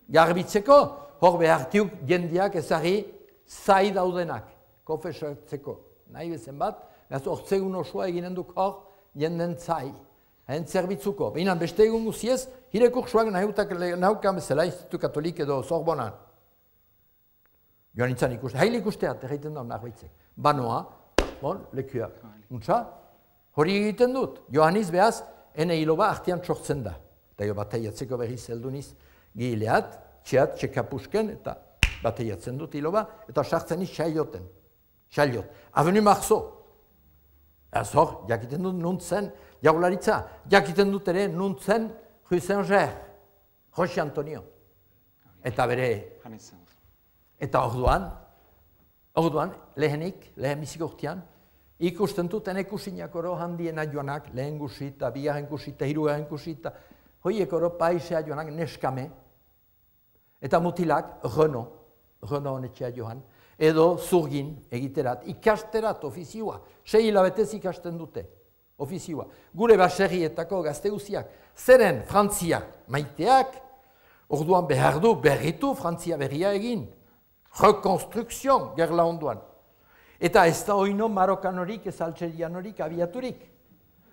garbitzeko, hor behartiuk jendeak ezari zai daudenak, konfesatzeko, nahi bezen bat, hortzegun osoa eginen duk hor, jenden zai. Hain zerbitzuko. Behinan beste egun guziez, hire kursuak nahukan bezala Institutu Katolik edo Sorbonan. Joan nintzen ikuste. Haile ikusteat, erraiten da narbaitzek. Banoa, bon, lekua. Untza, hori egiten dut. Johanniz behaz, ene hiloba artean txortzen da. Eta jo bataiatzeko berriz helduniz gileat, txeat, txekapusken, eta bataiatzen dut hiloba, eta sartzen iz xailioten. Xailiot. Avenu Marzo. Ez hor, jakiten dut nuntzen, jaularitza, jakiten dut ere nuntzen Rue Saint-Ger, Jose Antonio. Eta bere, eta orduan, orduan, lehenik, lehen biziko urtean, ikusten dut ene kusinak oro handiena joanak, lehen gusita, bigarren gusita, hirugarren gusita, hoiek oro paisea joanak neskame, eta mutilak Renault, Renault honetxea joan, edo zurgin egiterat, ikasterat ofizioa, sei hilabetez ikasten dute, ofizioa. Gure baserrietako gazte guziak, zeren Frantzia maiteak, orduan behar du berritu Frantzia berria egin, rekonstrukzion gerla onduan. Eta ez da oino marokanorik, ez altserianorik, abiaturik.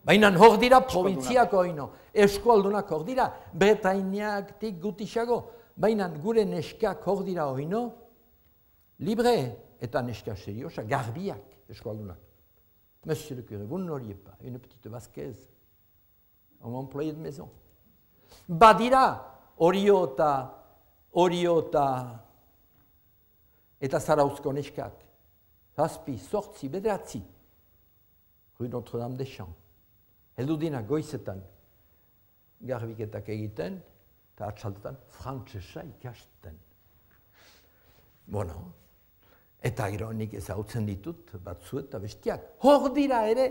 Baina hor dira provintziako oino, eskualdunak hor dira, Bretainiaktik gutisago, baina gure neskak hor dira oino, libre eta neska seriosa, garbiak eskualdunak. Monsieur le curé, vous n'auriez pas une petite vasquez, un employé de maison. Badira, orio eta, orio eta, eta zarauzko neskak. Zazpi, sortzi, bederatzi. Rue Notre-Dame-des-Champs. Heldu dina goizetan garbiketak egiten, eta atxaldetan frantsesa ikasten. Bueno, eta gero nik ezagutzen ditut, batzu eta bestiak. Hor dira ere,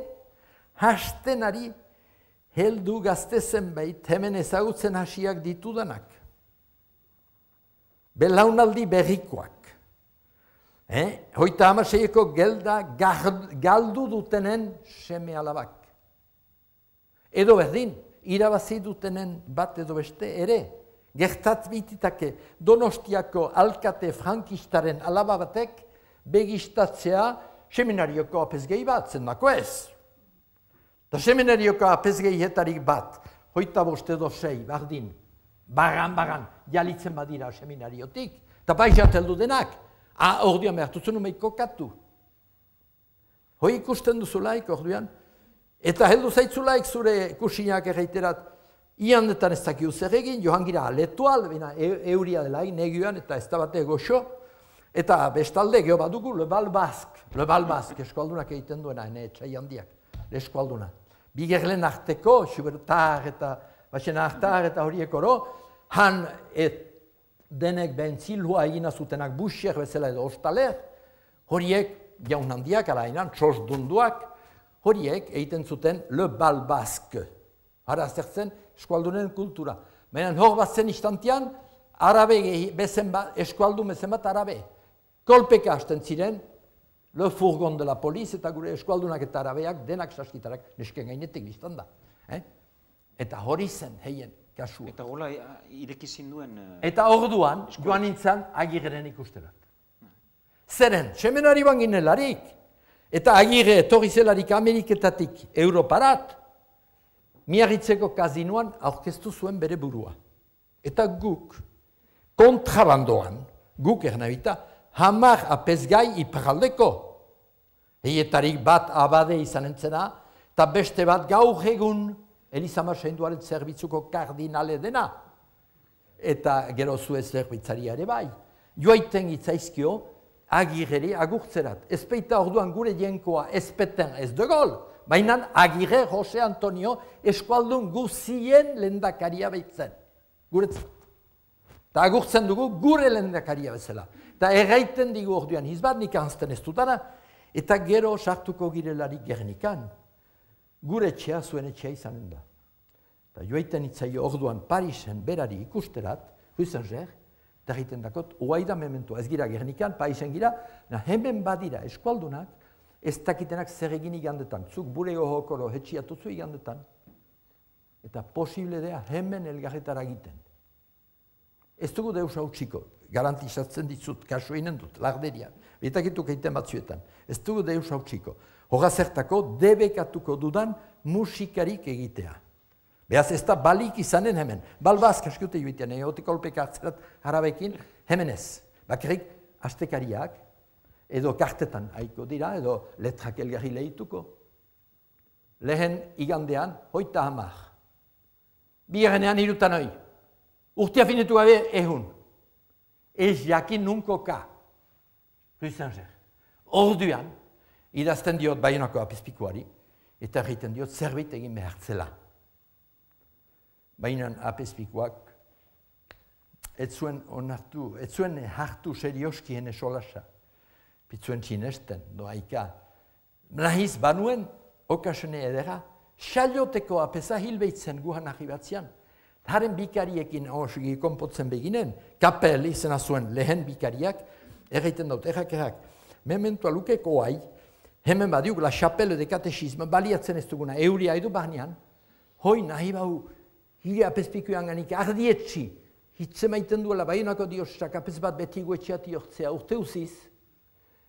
hastenari heldu gazte zenbait hemen ezagutzen hasiak ditudanak. Belaunaldi berrikoak. Eh? Hoita hamaseieko gelda galdu dutenen seme alabak. Edo berdin, irabazi dutenen bat edo beste ere, gertat bititake Donostiako alkate frankistaren alaba batek begistatzea seminarioko apezgei bat, zendako ez. Eta seminarioko apezgeietarik bat, hoita bost edo sei, bardin, bagan-bagan, jalitzen badira seminariotik, Eta baixat heldu denak. Ah, orduan behar duzu numeik kokatu. Hoi ikusten duzulaik, orduan. Eta heldu zaitzulaik zure kusinak erreiterat. Iandetan ez dakiu zer egin, johan gira aletual, bina euria delaik, negioan, eta ez da bate goxo. Eta bestalde geho badugu, Le Bal Basque. Le Bal Basque, eskualdunak egiten duena, ene etxai handiak. Eskualduna. Bigerlen arteko, Xubertar eta Baxen Artar eta horiek oro, han et denek bentzilua egina zutenak busiek bezala edo ostaler, horiek jaun handiak, alainan, txos dunduak, horiek egiten zuten Le Bal Basque. Hara zertzen eskualdunen kultura. Baina hor bat zen istantian, arabe bezen bat, eskualdu bezen bat arabe. Kolpeka hasten ziren, Le Fourgon de la Police eta gure eskualdunak eta arabeak denak saskitarak nesken gainetik biztan da. Eh? Eta hori zen, heien, kasua. Eta hola irekizin duen... Eta orduan, joan nintzen Agirren ikusterat. Zeren, semenari banginelarik. Eta Agirre etorri zelarik Ameriketatik Europarat, Miarritzeko kazinoan aurkeztu zuen bere burua. Eta guk, kontrabandoan, guk ernabita, hamar apezgai iparaldeko. Eietarik bat abade izan entzena, eta beste bat gaur egun Elizama Seinduaren zerbitzuko kardinale dena. Eta gero zue zerbitzari ere bai. Joaiten itzaizkio, Agirreri agurtzerat. Ezpeita orduan gure jenkoa ezpeten ez de gol, baina Agirre Jose Antonio eskualdun guzien lendakaria behitzen. Guretzat. Eta agurtzen dugu gure lendakaria bezala. Eta erraiten digu orduan hizbat nik anzten ez dutara, eta gero sartuko girelarik Gernikan. Gure etxea zuen etxea izanen da. Eta joaiten itzaio orduan Parisen berari ikusterat, huizen zer, eta egiten dakot, oaida mementua, ez gira Gernikan, Parisen gira, na hemen badira eskualdunak, ez dakitenak zer egin igandetan, zuk bure gohokoro hetxiatuzu igandetan, eta posible dea hemen elgarretara egiten. Ez dugu deus hautsiko, garantizatzen dizut, kasu eginen dut, larderian, betakituk egiten batzuetan, ez dugu deus hautsiko. Hoga zertako, debekatuko dudan musikarik egitea. Beaz ez da balik izanen hemen. Balbazk askute joitean, egotik kolpeka hartzerat harabekin, hemen ez. Bakarrik, astekariak, edo kartetan haiko dira, edo letrak elgarri lehituko. Lehen igandean, hoita hamar. Bigarrenean hirutan hoi. Urtea finetu gabe ehun. Ez jakin nunko ka. Ruizan zer. Orduan, idazten diot Baionako apizpikuari, eta egiten diot zerbait egin behartzela. Baina apizpikuak ez zuen onartu, ez zuen hartu serioski hene solasa. Pitzuen txinesten, doaika. Nahiz banuen, okasene edera, xalioteko apesa hilbeitzen guhan ahi batzian. Haren bikariekin osigi konpotzen beginen, kapel izena zuen lehen bikariak, erraiten dut, errak errak. Mementua lukeko hai, hemen badiuk la chapelle de katexisme, baliatzen ez duguna, euria edu barnean, hoi nahi bau, hile apezpikuan ganik ardietxi, hitze maiten duela, Baionako diosak apez bat beti guetxeat jortzea, urte uziz,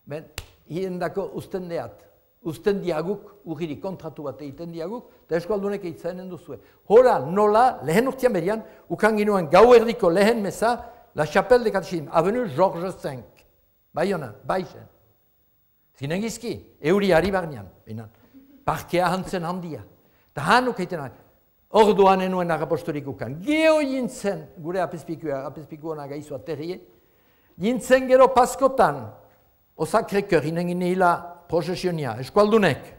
ben, hiendako usten deat, usten diaguk, urgiri kontratu bat egiten diaguk, eta eskualdunek eitzenen duzue. Hora, nola, lehen urtean berian, ukan ginoen gau erdiko lehen meza, la chapelle de katexisme, avenu Georges cinq, Baiona, Baixen. Zinen gizki, euri ari barnean, parkea hantzen handia. Eta hanuk egiten ari, orduan enuen agapostorik ukan. Geo jintzen, gure apezpikua, apezpikuana gaizu aterrie, jintzen gero paskotan, osakrekeur, inen ginela prozesionia, eskualdunek,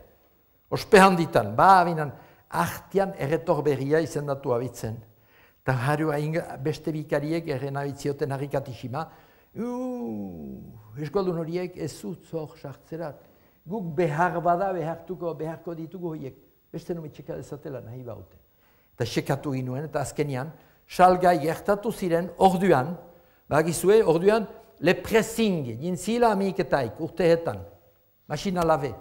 ospe handitan, ba, binan, artian erretor berria izendatu abitzen. Eta harua beste bikariek erren abitzioten harrikatixima, eskualdun horiek ez zutzor sartzerat. Guk behar bada behartuko, beharko ditugu horiek. Beste nume txeka dezatela nahi baute. Eta txekatu ginuen, eta azkenian, salgai gertatu ziren orduan, bagizue, orduan, le pressing, jintzila amiketaik, urteetan, masina labe.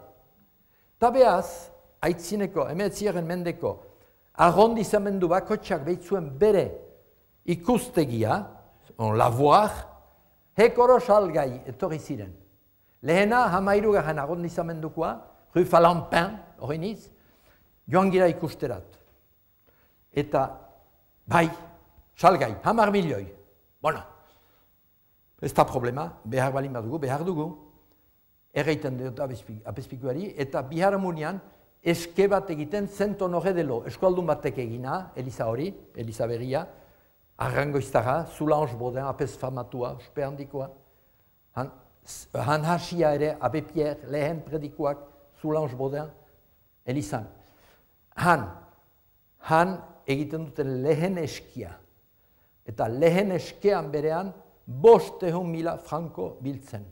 Ta behaz, aitzineko, emetziaren mendeko, arrondizamendu bakotxak behitzuen bere ikustegia, on lavoir, hekoro salgai etorri ziren. Lehena, hamairu garen arrondizamendukoa, Rue Falampin, hori niz, joan gira ikusterat. Eta, bai, salgai, hamar milioi. Bueno, Ez da problema, behar balin badugu, behar dugu. Erreiten dut apezpikuari, eta biharamunian eske bat egiten zenton horre delo. Eskualdun batek egina, Eliza hori, Eliza berria, Arrangoiztara, Soulange Baudin, apez famatua, ospe handikoa. Han, han hasia ere, Abe Pierre, lehen predikoak, Soulange Baudin, Elizan. Han, han egiten duten lehen eskia. Eta lehen eskean berean, bostehun mila franko biltzen.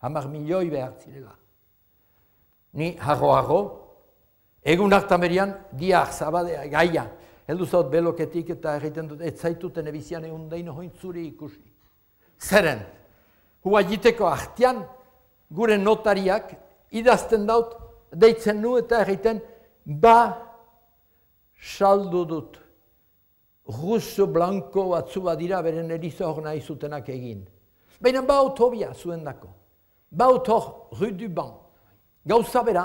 Hamar milioi behar zirela. Ni harro-harro, egun hartan berian, diar, zabadea, gaia. Heldu zaut beloketik eta egiten dut, ez zaituten ebizian egun daino hointzuri ikusi. Zeren, hua jiteko artian, gure notariak idazten daut, deitzen nu eta egiten, ba, saldu dut. Russo blanko batzu badira beren Eliza hor nahi zutenak egin. Baina baut hobia zuen dako. Baut hor, Rue du Ban. Gauza bera,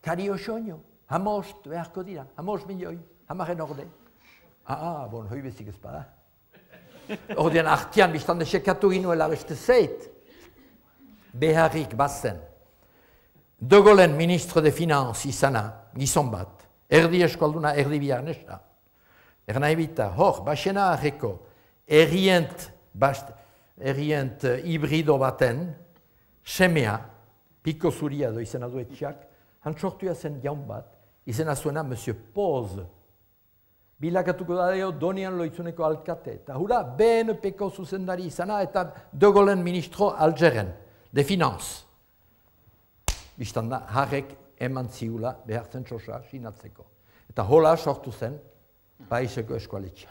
kari osoño. Hamost beharko dira, hamost milioi, hamaren orde. Ah, bon, hoi bezik ez bada. Ordean artian, biztan desekatu ginuela beste zeit. Beharrik bazen. De Gaullen ministre de Finanz izana, gizon bat. Erdi eskualduna, erdi bihar nesa. Ernai bita, hor, basena arreko, errient, bast, errient uh, hibrido baten, semea, piko zuria do izena duetxak, han sortuia zen jaun bat, izena zuena Monsieur Poz. Bilakatuko da deo donian loitzuneko alkate. Eta hura, B N P-ko zuzendari izana eta De Gaullen ministro Algeren, de Finanz. Bistan da, harrek eman ziula behartzen txosa sinatzeko. Eta hola sortu zen, Paiseko eskualetxea.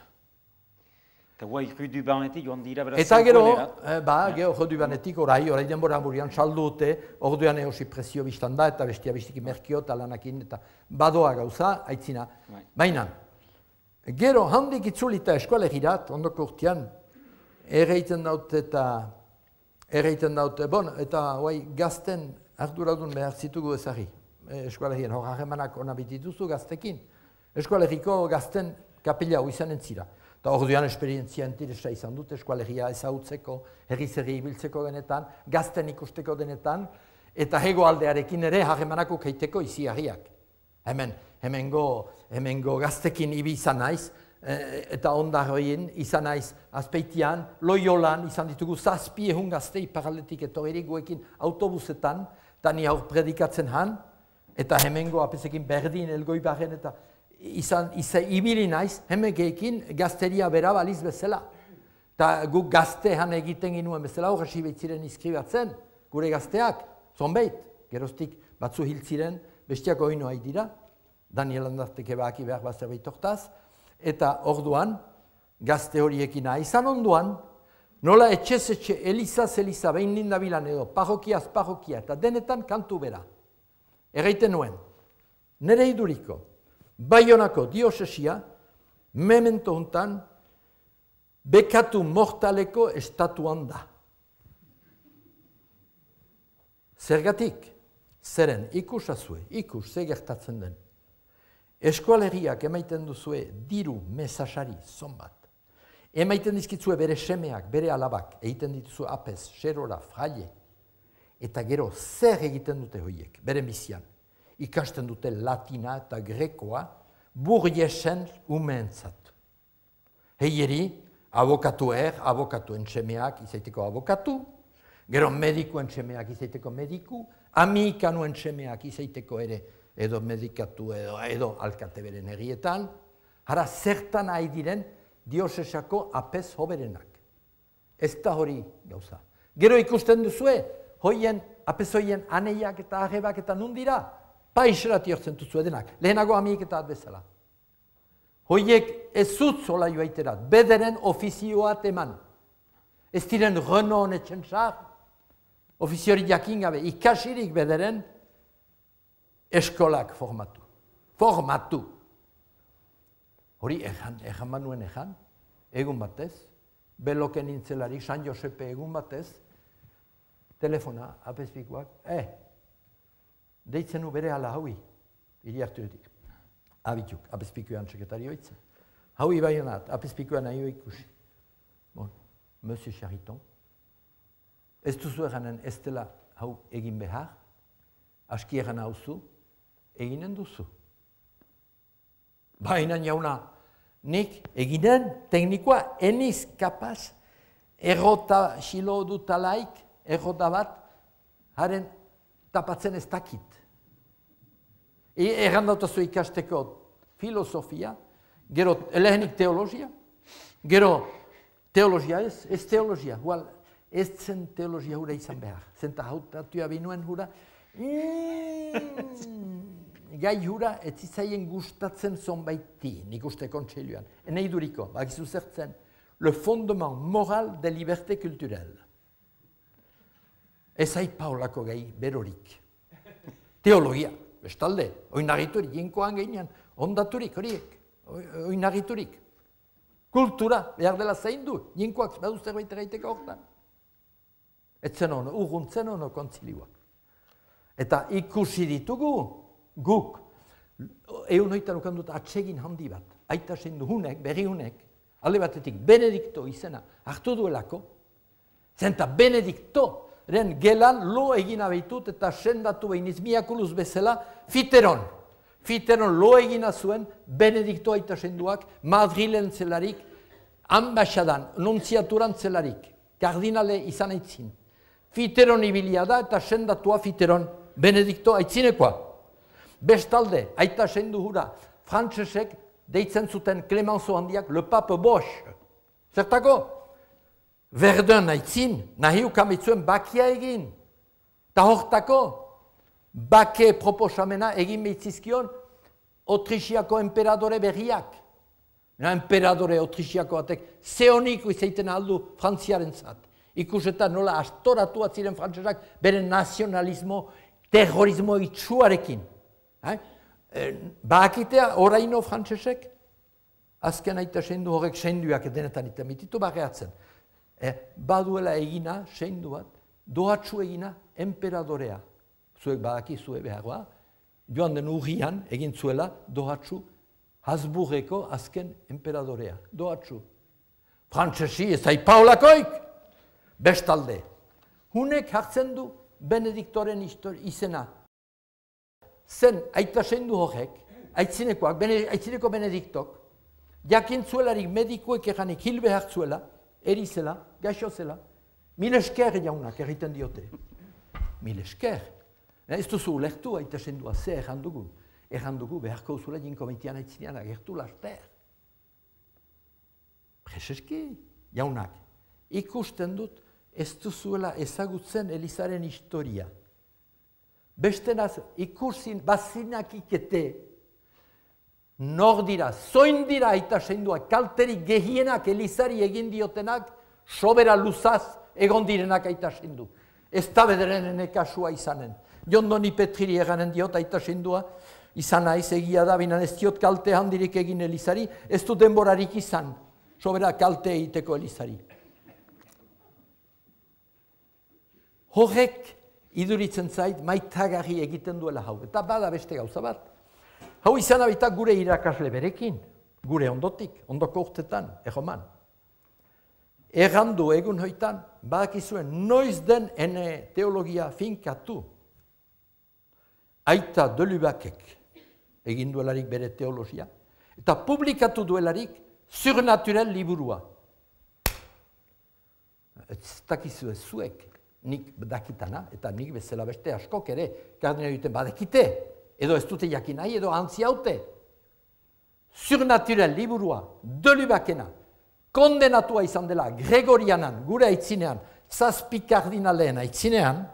Eta guai, Rue du Banetik joan dira beraz eta gero, zenkuelera. ba, gero Rue du Banetik orai, orai denbora hamurian saldu dute, orduan eosi presio biztan da, eta bestia bestiki merkio eta lanakin, eta badoa gauza, aitzina. Baina, gero handik itzulita eskualegirat, ondoko urtean, erreiten daut eta, erreiten daut, bon, eta guai, gazten arduradun behar zitugu ezari, eskualegien, hor harremanak ona bitituzu gaztekin. Eskualegiko gazten kapela hau izan entzira. Eta orduan esperientzia interesa izan dut eskualegia ezagutzeko, herri-zerri ibiltzeko denetan, gazten ikusteko denetan, eta hego aldearekin ere harremanako keiteko iziarriak. Hemen, hemengo, hemengo gaztekin ibi izan naiz, eta ondarroien izan naiz azpeitian, Loiolan izan ditugu zazpi ehun gazte iparaldetik etorri guekin autobusetan, eta ni aur predikatzen han, eta hemengo apesekin berdin elgoi barren eta izan, izan ibili naiz, hemegeekin gazteria bera baliz bezala. Eta guk gaztean egiten ginuen bezala, horresi behitziren izkribatzen, gure gazteak, zonbeit, geroztik batzu hiltziren, bestiako hino hain dira, Daniel Andarteke baki behar bat zerbait hortaz, eta orduan, gazte horiekin nahi izan onduan, nola etxez etxe, Elizaz Eliza, behin lindabilan edo, parrokiaz parrokia, eta denetan kantu bera. Erreiten nuen, nire iduriko, Baionako diosesia, memento hontan, bekatu mortaleko estatuan da. Zergatik, zeren, ikusazue, ikus, ze gertatzen den. Eskualeriak emaiten duzue diru mesasari zonbat. Emaiten dizkitzue bere semeak, bere alabak, egiten dituzue apez, xerora, fraile. Eta gero, zer egiten dute hoiek, bere bizian. Ikasten dute latina eta grekoa, burriesen umeentzat. Heieri, abokatu er, abokatuen semeak izaiteko abokatu, gero medikuen semeak izaiteko mediku, amikanuen semeak izaiteko ere edo medikatu edo, edo alkate beren herrietan, hara zertan nahi diren diosesako apez hoberenak. Ez da hori gauza. Gero ikusten duzue, hoien, apez hoien aneiak eta arrebak eta nundira, paixerat jortzen duzue denak, lehenago amik eta bezala. Hoiek ez zut zola joaiterat, bederen ofizioat eman. Ez diren Renault honetxen sar, ofiziori jakin gabe, ikasirik bederen, eskolak formatu. Formatu. Hori ejan, ejan manuen ejan, egun batez, beloken nintzelarik, San Josepe egun batez, telefona, apezpikoak, eh, deitzen u bere ala haui, hiri hartuetik. Abituk, apezpikoan sekretarioa itzen. Haui baionat, apezpikoan nahi ikusi. Bon, Monsieur Chariton, ez duzu eganen ez dela hau egin behar, aski egan hauzu, eginen duzu. Baina jauna, nik eginen teknikoa eniz kapaz, errota xilo dutalaik, errota bat, haren tapatzen ez dakit. Egan dautazu ikasteko filosofia, gero elehenik teologia, gero teologia ez, ez teologia, hual, ez zen teologia hura izan behar. Zenta hautatua binuen hura, mm, gai hura ez zitzaien gustatzen zonbaiti, nik uste kontseiluan. Enei duriko, bakizu zertzen, le fondement moral de liberté culturelle. Ez aipaolako gai berorik. Teologia, bestalde, oinarriturik, jinkoan geinean, ondaturik horiek, oinarriturik. Kultura, behar dela zein du, jinkoak badu zerbait egiteko hortan. Etzen ono, urruntzen ono kontzilioak. Eta ikusi ditugu, guk, egun hoitan ukan dut atsegin handi bat, aita zein du hunek, berri hunek, alde batetik Benedikto izena hartu duelako, zenta Benedikto, ren gelan lo egin abeitut eta sendatu behin izmiakuluz bezala Fiteron. Fiteron lo egina zuen Benedikto aita senduak Madrilen zelarik, ambaixadan, nuntziaturan zelarik, kardinale izan aitzin. Fiteron ibilia da eta sendatua Fiteron Benedikto aitzinekoa. Bestalde, aita sendu hura, frantsesek deitzen zuten Clemenceau handiak le pape Bosch. Zertako? Verdun aitzin, nahi ukamitzuen bakia egin. Ta hortako, bake proposamena egin behitzizkion Otrixiako emperadore berriak. Na, emperadore Otrixiako batek zeoniko izaiten aldu frantziaren zat. Ikusetan nola astoratu atziren frantsesak beren nazionalismo, terrorismo itxuarekin. Eh? Eh, Bakitea oraino frantsesek, azken aita seindu horrek seinduak denetan iten mititu barreatzen. Eh, baduela egina, seindu bat, dohatsu egina emperadorea. Zuek badakizue beharroa, joan den urrian egin zuela dohatsu Habsburgeko azken emperadorea. Dohatsu. Frantsesi ez aipaolakoik, bestalde. Hunek hartzen du Benediktoren izena. Zen aita seindu horrek, aitzinekoak, bene, aitzineko Benediktok, jakintzuelarik medikuek eganik hil behar zuela, erizela, gaixo zela, mil esker jaunak egiten diote. Mil esker. Ez duzu ulektu aita sendua ze errandugu. Errandugu beharko uzula jinkomitian aitzinean agertu laster. Prezeski, jaunak, ikusten dut ez duzuela ezagutzen Elizaren historia. Bestenaz ikusin bazinak ikete, nor dira, zoin dira aita sendua, kalterik gehienak Elizari egin diotenak, sobera luzaz egon direnak aita sendu. Ez da bederen kasua izanen. Jondoni Petriri eganen diot aita sendua, izan naiz egia da, binan ez diot kalte handirik egin Elizari, ez du denborarik izan, sobera kalte egiteko Elizari. Horrek iduritzen zait maitagarri egiten duela hau, eta bada beste gauza bat. Hau izan abita gure irakasle berekin, gure ondotik, ondoko urtetan, egoman. Errandu egun hoitan, badakizuen noiz den ene teologia finkatu. Aita Delubakek egin duelarik bere teologia, eta publikatu duelarik surnaturel liburua. Ez dakizue zuek, nik dakitana, eta nik bezala beste askok ere, kardinal duten badekite, edo ez dute jakin nahi, edo antzi haute. Surnaturel liburua, Delubakena, kondenatua izan dela Gregorianan, gure aitzinean, zazpi kardinaleen aitzinean,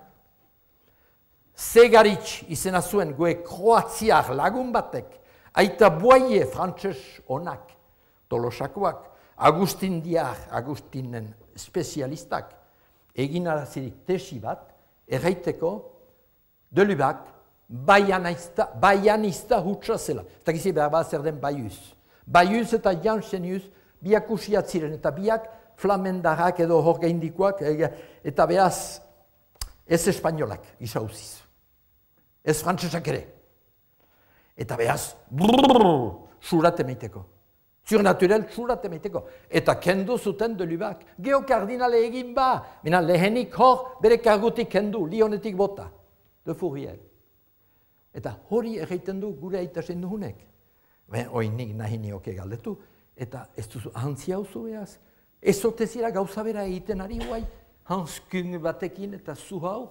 Segaritz izena zuen gue kroatziar lagun batek, aita Boie frantses onak, Tolosakoak, Agustin Diar, Agustinen spezialistak, egin arazirik tesi bat, erraiteko, Delubak, baianista, baianista hutsa zela. Eta gizi behar bat zer den Baius. Baius eta Janssenius biak usiat ziren, eta biak flamendarrak edo hor gaindikoak, eta behaz ez espainolak izauziz. Ez frantsesak ere. Eta behaz, brrrr, surate meiteko. Surnaturel txurat emaiteko. Eta kendu zuten de Lubac. Geokardinale egin ba. Mina lehenik hor bere kargutik kendu, Lionetik bota. De Fourier. Eta hori egiten du gure aitasen duhunek. Ben, oinik nahi nioke galdetu. Eta ez duzu, ahantzi hau zu behaz. Ez otezira gauza bera egiten ari guai. Hanskung batekin eta zu hau.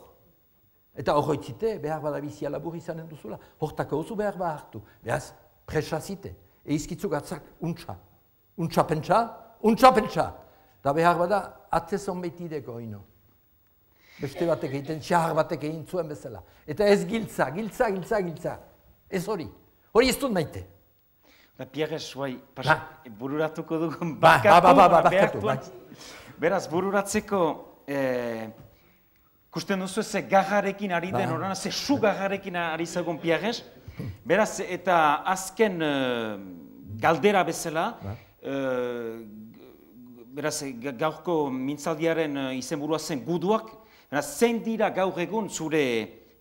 Eta horretzite, behar bada bizia labur izanen duzula. Hortako oso behar ba hartu. Behaz, presazite. Eizkitzu gatzak, untxa. Untxa pentsa, untxa pentsa. Da behar bada, atzezon behitideko ino. Beste batek egiten, xahar batek egin zuen bezala. Eta ez giltza, giltza, giltza, giltza. Ez hori. Hori ez dut maite. Da Pierre Suai, bururatuko dugun ba, ba, ba, ba, barkatu. Beraz, bururatzeko, ikusten duzu ze garrarekin ari den horana, ze su garrarekin ari zagun Pierre. Beraz, eta azken galdera bezala, beraz, gaurko mintzaldiaren izenburua zen guduak, beraz, zein dira gaur egun zure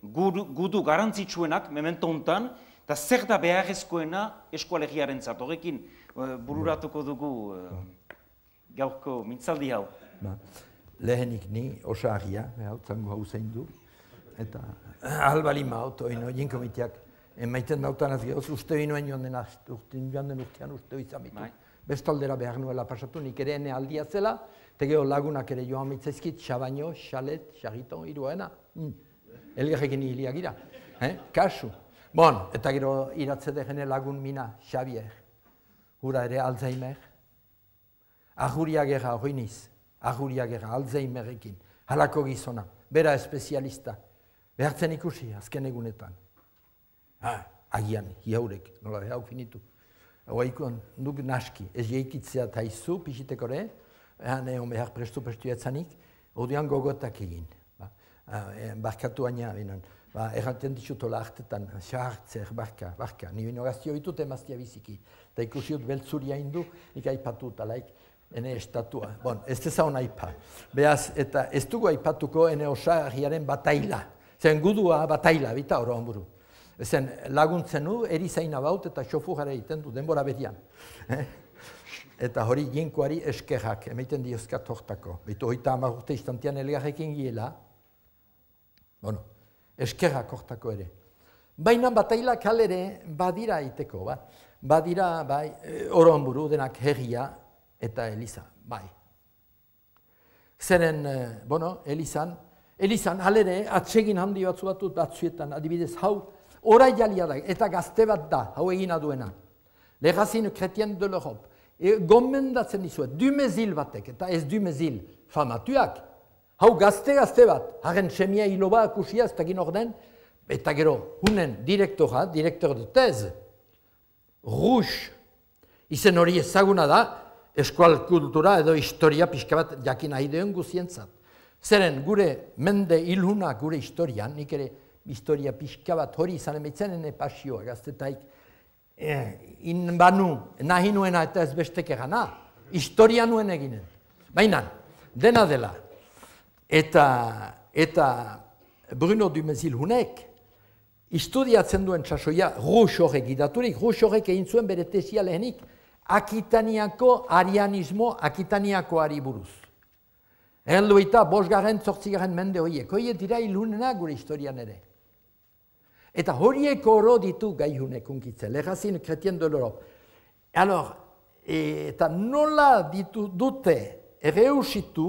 gudu garantzitsuenak, memento hontan, eta zer da beharrezkoena eskualegiaren zat, horrekin bururatuko dugu gaurko mintzaldi hau. Lehenik ni osagia, hau zango hau zein du, eta albalima autoino, jinkomiteak, emaiten dautan az gehoz, uste binoen joan den joan den urtean uste izan bitu. Bestaldera behar nuela pasatu, nik ere ene aldia zela, eta gero lagunak ere joan mitzaizkit, Xabaino, Xalet, Xariton, iruena. Elgarrekin hiliak gira. Kasu. Bon, eta gero iratze degene lagun mina, Xavier. Hura ere Alzheimer. Ajuria gerra hori niz. Ajuria gerra, Alzheimerekin. Halako gizona. Bera espezialista. Behartzen ikusi, azken egunetan. Ah, agian, hiaurek, nola behar finitu. Oaikon, nuk naski, ez jeikitzea taizu, pixitekore, ehan egon behar prestu prestu etzanik, orduan gogotak egin. Barkatu aina, binen, erraten ditutola hartetan, xahartzer, barka, barka, ni bino gaztio ditut emaztia biziki, eta ikusiut beltzuria indu, nik aipatu talaik, ene estatua. Bon, ez dezaun aipa. Beaz, eta ez dugu aipatuko ene osagiaren bataila. Zen gudua bataila, bita oro onburu. Ezen laguntzen du, erizaina baut eta xofujara egiten du, denbora bedian. Eta hori jinkoari eskerrak, emaiten diozkat hortako. Beitu hoita hamar urte istantean elgarrekin giela. Bueno, eskerrak hortako ere. Baina batailak halere badira iteko, ba? Badira, bai, oron buru denak herria eta Eliza, bai. Zeren, bueno, Elizan, Elizan halere atsegin handi batzu batut batzuetan, adibidez hau, orai jalia da, eta gazte bat da, hau egina duena. Legazin Chrétien de l'Europe. E, gomendatzen dizuet, Dumezil batek, eta ez Dumezil famatuak. Hau gazte-gazte bat, haren semia hiloba akusia, ez takin orden, eta gero, hunen direktora, direktor de tez, Rouge, izen hori ezaguna da, eskual kultura edo historia pixka bat jakin aideon guzientzat. Zeren, gure mende ilhuna gure historian, nik ere historia pixka bat hori izan emeitzen ene pasioa gaztetaik, in banu, nahi nuena eta ez bestek egana, historia nuen eginen. Baina, dena dela, eta, eta Bruno Dumezil hunek, Istudiatzen duen txasoia, Rouge horrek idaturik, Rouge horrek egin zuen bere tesia lehenik, Akitaniako arianismo, Akitaniako ari buruz. Erdu eta bosgarren, zortzigaren mende horiek, horiek dira ilunena gure historian ere. Eta horiek oro ditu gaihunek unkitzen, Legazin Chrétien de l'Europe. Alors, eta nola ditu dute erreusitu,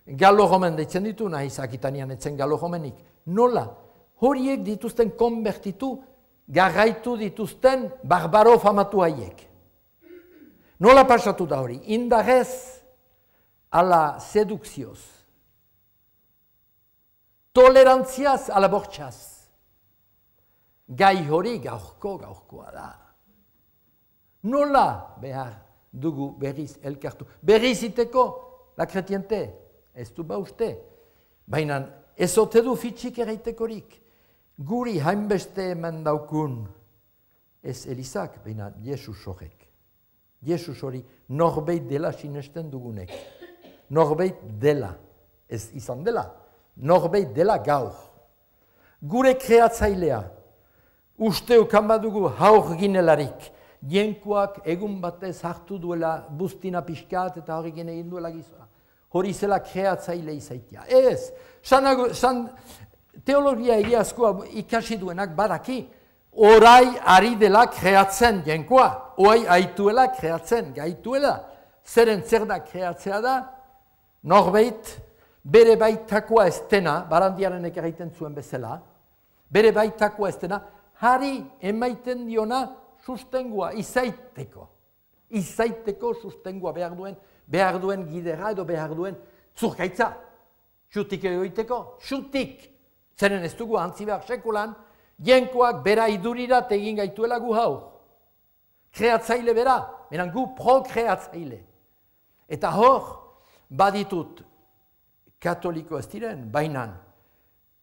galo-romen deitzen ditu, nahiz Akitanian etzen galo-romenik, nola? Horiek dituzten konbertitu, garraitu dituzten barbaro famatu haiek. Nola pasatu da hori? Indarrez ala sedukzioz. Tolerantziaz ala bortxaz. Gai hori gaurko gaurkoa da. Nola behar dugu berriz elkartu? Berriz iteko, la kretiente, ez du ba uste. Baina ez ote du fitxik eraitekorik. Guri hainbeste hemen daukun, ez Elizak, baina Jesus horrek. Jesus hori norbeit dela sinesten dugunek. Norbeit dela, ez izan dela, norbeit dela gaur. Gure kreatzailea, uste ukan badugu haur ginelarik, jenkuak egun batez hartu duela buztina pixkat eta horrekin egin duela gizoa. Hori zela kreatzaile izaitia. Ez, san, san, teologia egiazkoa ikasi duenak badaki, orai ari dela kreatzen jenkoa, oai aituela kreatzen, gaituela. Zeren zer da kreatzea da, norbeit, bere baitakoa ez dena, Barandiaren egiten zuen bezala, bere baitakoa ez dena, hari emaiten diona sustengua, izaiteko. Izaiteko sustengua behar duen, behar duen gidera edo behar duen zurkaitza. Xutik egoiteko, xutik. Zeren ez dugu antzi behar sekulan, jenkoak bera idurirat egin gaituela gu hau. Kreatzaile bera, menan gu pro-kreatzaile. Eta hor, baditut, katoliko ez diren, bainan,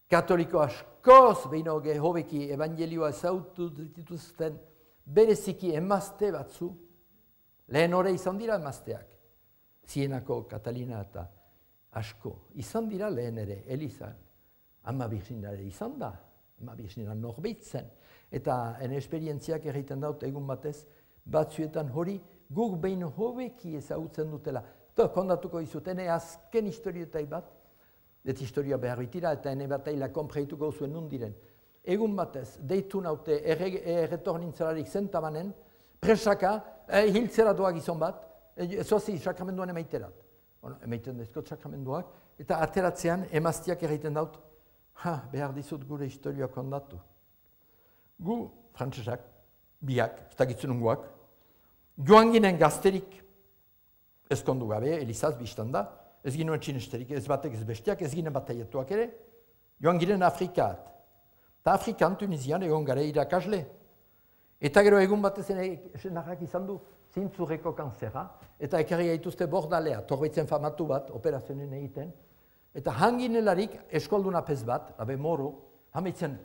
katoliko askoz, behin hoge hobeki evangelioa zautu dituzten, bereziki emazte batzu, lehen hori izan dira emazteak. Zienako Katalina eta asko, izan dira lehen ere, Elizan. Ama birzinare izan da, ama birzinare norbeitzen. Eta en esperientziak egiten daut egun batez, batzuetan hori guk behin hobeki ezagutzen dutela. Eta kondatuko izut, ene azken historietai bat, eta historia behar bitira, eta ene bataila konpreituko zuen nundiren. Egun batez, deitu naute erretornintzalarik zentamanen, presaka, eh, hiltzera doak izan bat, eh, zoazi sakramenduan emaiterat. Bueno, emaiten dezkot sakramenduak, eta ateratzean emaztiak egiten daut, ha, behar dizut gure historia kondatu. Gu, frantsesak, biak, ez dakitzen unguak, joan ginen gazterik, ezkondu gabe, Elizaz biztan da, ez ginen txinesterik, ez batek ez bestiak, ez ginen bataiatuak ere, joan ginen Afrikat. Eta Afrikan, Tunisian, egon gara irakasle. Eta gero egun batez senarrak izan du, zintzurreko kanzera, eta ekarri gaituzte bordalea, torbaitzen famatu bat, operazioen egiten, eta hanginelarik eskolduna pez bat, abe moro, hameitzen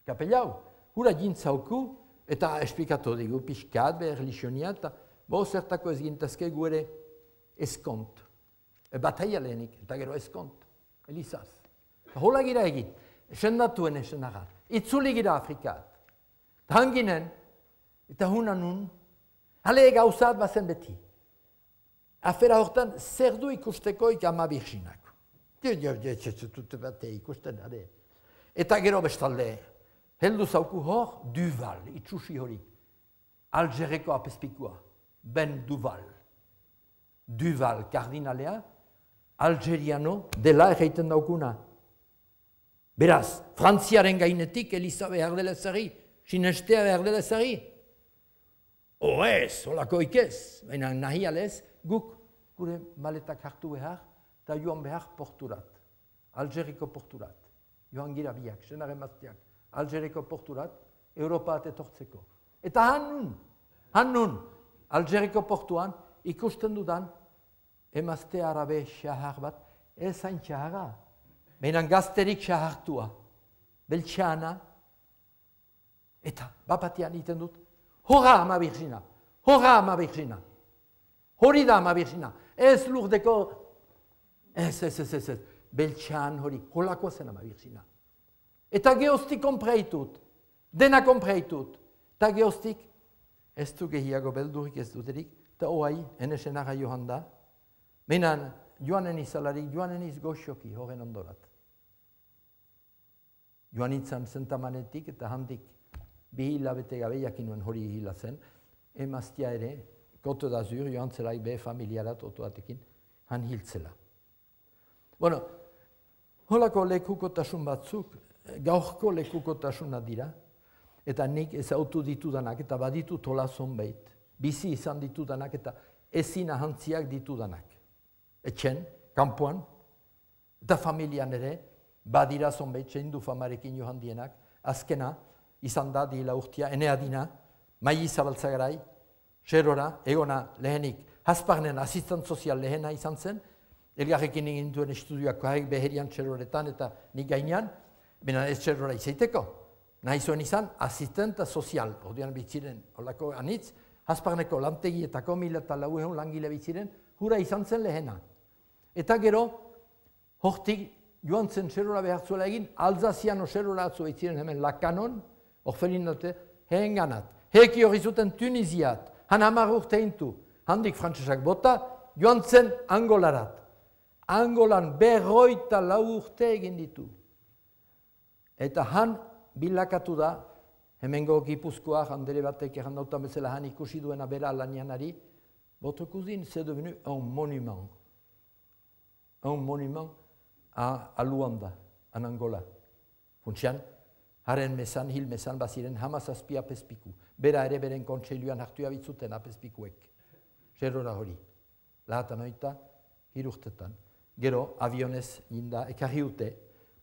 kapelau, hura jintzauku, eta esplikatu digu, pixkat, behar lisionia, eta bo zertako ez gintazke gu ere eskont. E bataia lehenik, eta gero eskont, Elizaz. Hola gira egin, sendatuen esenara, itzuli gira Afrikat. Eta hanginen, eta hunan nun, hale gauzat bazen beti. Afera hortan, zer du ikusteko ik ama birxinako. Ikusten ade. Eta gero bestalde, heldu zauku hor, Duval, itxusi hori. Algereko apespikua, Ben Duval. Duval, kardinalea, algeriano dela egiten daukuna. Beraz, Frantziaren gainetik Eliza behar dela ezari, sinestea behar dela ezari. O ez, holako ikez, baina nahi alez, guk gure maletak hartu behar, eta joan behar porturat, Algeriko porturat. Joan gira biak, senaren maztiak, Algeriko porturat, Europa etortzeko. Eta hannun, hannun, Algeriko portuan, ikusten dudan, emazte arabe xahar bat, ez hain xahara. Behinan gazterik xahartua, beltxana, eta bapatian iten dut, hora ama birxina, hora ama birxina, hori da ama birxina, ez lurdeko, ez, ez, ez, ez, ez, beltxan hori, holako zen ama birxina. Eta geostik konpreitut, dena konpreitut, eta geostik, ez du gehiago beldurik ez duterik, eta oai, enesenara johan da, behinan, joanen izalarik, joanen izgoxoki, horren ondorat. Joan itzan zentamanetik eta handik bi hilabete gabe jakinuen hori hila zen, emaztia ere, Koto d'Azur, joan zelaik be familiarat otoatekin, han hiltzela. Bueno, holako lekukotasun batzuk, gaurko lekukotasuna dira, eta nik ezautu ditudanak, eta baditu tola zonbait, bizi izan ditudanak, eta ezin ahantziak ditudanak. Etxen, kanpoan, eta familian ere, badira zonbait, txeindu famarekin johan dienak, azkena, izan da, dila urtia, ene adina, Mai Zabaltzagarai, Xerora, egona lehenik, Hasparnen asistent sozial lehena izan zen, elgarrekin egin duen estudioak kohek beherian Xeroretan eta nik gainean, bena ez Xerora izaiteko. Nahi zuen izan, asistenta sozial, ordean bitziren, holako anitz, Hasparneko lantegietako mila eta laueun langile bitziren, hura izan zen lehena. Eta gero, hortik joan zen Xerora behartzuela egin, Alzaziano Xerora atzu bitziren hemen Lakanon, orfelin dute, heen ganat. heki hori zuten Tunisiat, han hamar urte intu, handik frantsesak bota, joan zen Angolarat. Angolan berroita lau urte egin ditu. Eta han bilakatu da, hemengo Gipuzkoa, handere batek errandautan bezala han ikusi duena bera lanianari, votre cousine c'est devenu un monument. Un monument a, a Luanda, en Angola. Funtsian, haren mesan, hil mesan baziren hamazazpi apezpiku. Bera ere beren kontseiluan hartu abitzuten apezpikuek. Zerrora hori. Lahatan oita, hirurtetan. Gero, avionez jinda, ekarri ute,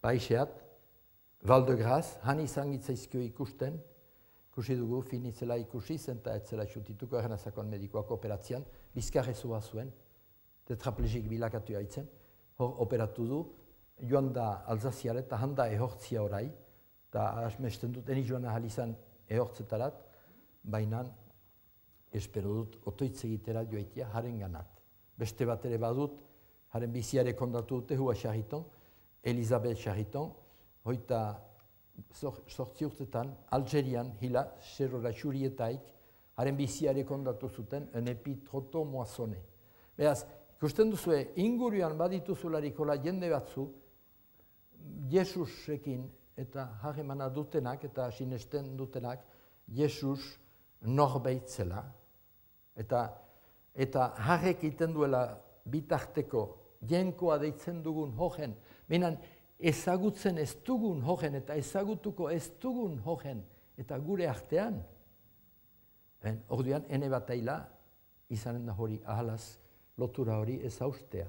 paiseat, Val de Grace, han izan gitzaizkio ikusten, ikusi dugu, finitzela ikusi, zenta etzela xutituko errenazakon medikoak operatzean, bizkarrezua zuen, tetraplegik bilakatu haitzen, hor operatu du, joan da Alzaziare eta handa ehortzia orai, eta asmesten dut, eni joan ahal izan ehortzetarat, baina espero dut otoitz egitera joaitia haren ganat. Beste bat ere badut, haren biziare kondatu dute, hua Chariton, Elisabeth Chariton, hoita sortzi urtetan, Algerian hila, zerrora xurietaik, haren biziare kondatu zuten, en epitroto moazone. Beraz, ikusten duzue, inguruan badituzularik hola jende batzu, Jesusekin eta harremana dutenak eta sinesten dutenak, Jesus norbait zela, eta, eta harrek iten duela bitarteko jenkoa deitzen dugun hojen, minan ezagutzen ez dugun hojen eta ezagutuko ez dugun hojen eta gure artean, en, orduan ene bataila izanen da hori ahalaz lotura hori ez haustea,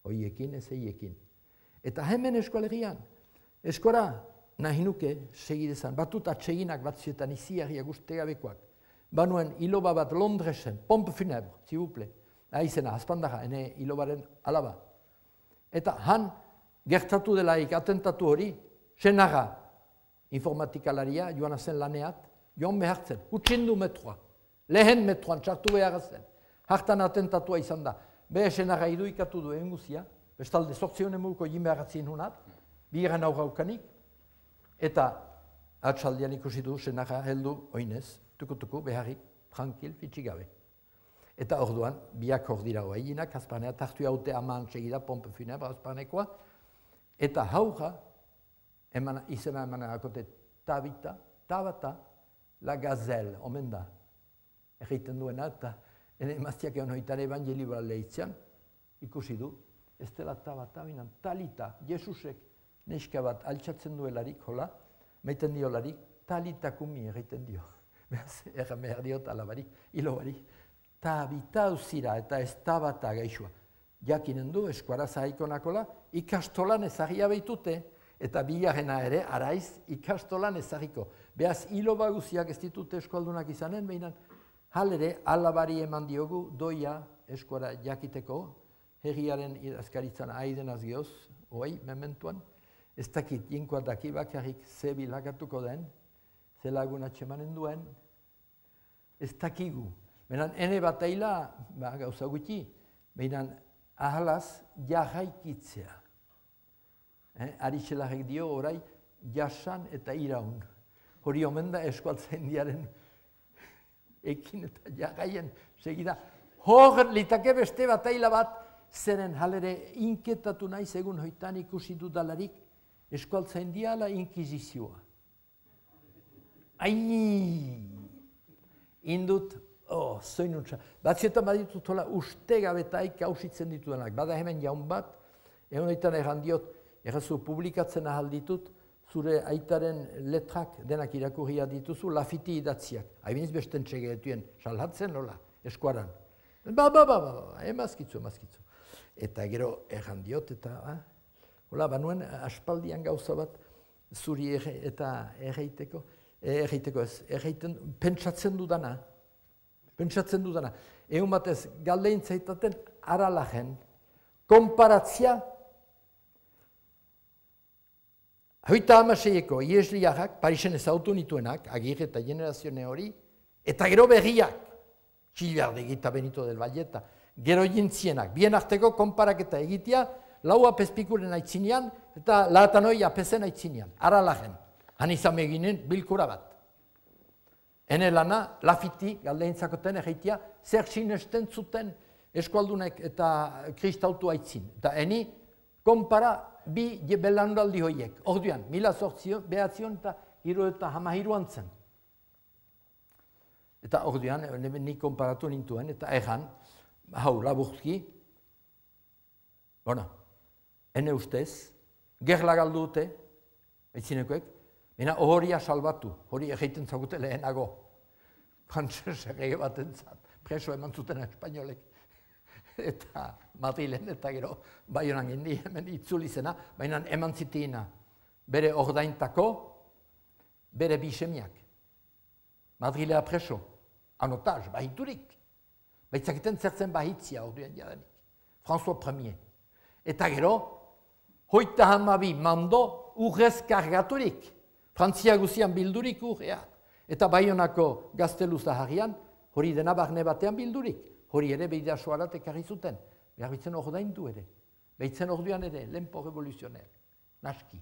hoiekin ez eiekin. Eta hemen eskualerian, eskora nahi nuke segidezan, batut atseginak batzietan iziarriak ustegabekoak, banuen iloba bat Londresen, pompe funebre, zibuple, aizena, azpandaga, ene ilobaren alaba. Eta han gertatu delaik atentatu hori, senaga informatikalaria, joan zen laneat, joan behartzen, utxindu metroa, lehen metroan txartu behar zen, hartan atentatua izan da, behe senaga iduikatu duen guzia, bestalde sortzionen muguko jin beharatzien hunat, bigeran aurraukanik, eta atxaldian ikusi du senaga heldu oinez, tukutuku beharrik, tranquil, fitxigabe. Eta orduan, biak hor dira hoa eginak, azpanea, tartu haute aman segida, pompe funebre azpanekoa, eta hauja, emana, izena emana akote Tabita, Tabata, la gazelle, omen da. Egiten duena, eta ene emaztiak egon hoitare evangelibra lehitzean, ikusi du, ez dela Tabata, binan, Talita, Jesusek, neska bat altxatzen duelarik, hola, meiten diolarik, Talita kumi egiten dio. Beraz, erran behar diot alabarik, hilobarik, Tabita uzira eta ez Tabata gaixua. Jakinen du, eskuara zahikonakola, ikastolan ezagia behitute, eta bigarrena ere, araiz, ikastolan ezagiko. Beaz, hilo baguziak ez ditute eskualdunak izanen, behinan, halere, alabari eman diogu, doia eskuara jakiteko, herriaren idazkaritzan aiden azgioz, oai, mementuan, ez dakit, jinkoa daki bakarrik ze bilakatuko den, ze lagun atxemanen duen, ez dakigu. Behinan, ene bataila, ba, gauza gutxi, behinan, ahalaz, jarraikitzea. Eh, Aritxelarek dio orai, jasan eta iraun. Hori omen da eskualtzaindiaren ekin eta jarraien segida. Hor litake beste bataila bat, zeren halere inketatu nahi segun hoitan ikusi dudalarik, eskualtzaindia ala inkizizioa. Ai! Indut, oh, zoinuntza. Batzietan baditut hola ustegabetaik hausitzen ditudanak. Bada hemen jaun bat, egon eitan erran diot, errazu publikatzen ahal ditut, zure aitaren letrak denak irakurria dituzu, lafiti idatziak. Haibiniz besten txegeetuen, salhatzen nola, eskuaran. Ba, ba, ba, ba, emazkitzu, emazkitzu. Eta gero erran diot, eta, ah, hola, banuen aspaldian gauza bat, zuri erre, eta erreiteko, erreiteko ez, erreiten, pentsatzen dudana, pentsatzen dudana. Egun batez, galdein zaitaten, aralajen, konparatzia, hoita hamaseieko iesliarrak, Parisen ezautu nituenak, Agirre eta generazione hori, eta gero berriak, Txillardegi eta Benito del Valle, eta gero jintzienak, bien arteko konparaketa egitea, lau apezpikuren aitzinean, eta laatan hoi apezen aitzinean, aralajen. Han izan eginen bilkura bat. Ene lana, Lafiti, galdeinzakoten egeitia, zer sinesten zuten eskualdunek eta kristautu aitzin. Eta eni, konpara bi belandaldi hoiek. Orduan, mila sortzion, behatzion eta hiru eta hamahiruan zen. Eta orduan, nik konparatu nintuen, eta erran, hau, laburki, bona, ene ustez, gerla galdu dute, aitzinekoek, baina horia salbatu, hori egiten zagute lehenago. Frantzesek ege bat entzat, preso eman zuten espainolek. Eta Madrilen eta gero Baionan indi hemen itzuli zena, baina eman zitiina bere ordaintako, bere bisemiak. Madrilea preso, anotaz, bahiturik. Baitzakiten zertzen bahitzia orduan jadanik. François Premier. Eta gero, hoita hamabi mando urrez kargaturik. Frantzia guzian bildurik urrea. Eta Baionako gaztelu zaharrian, hori dena barne batean bildurik. Hori ere behidasoarat ekarri zuten. Behar bitzen ordaindu ere. Behitzen orduan ere, lempo revoluzioner. Naski.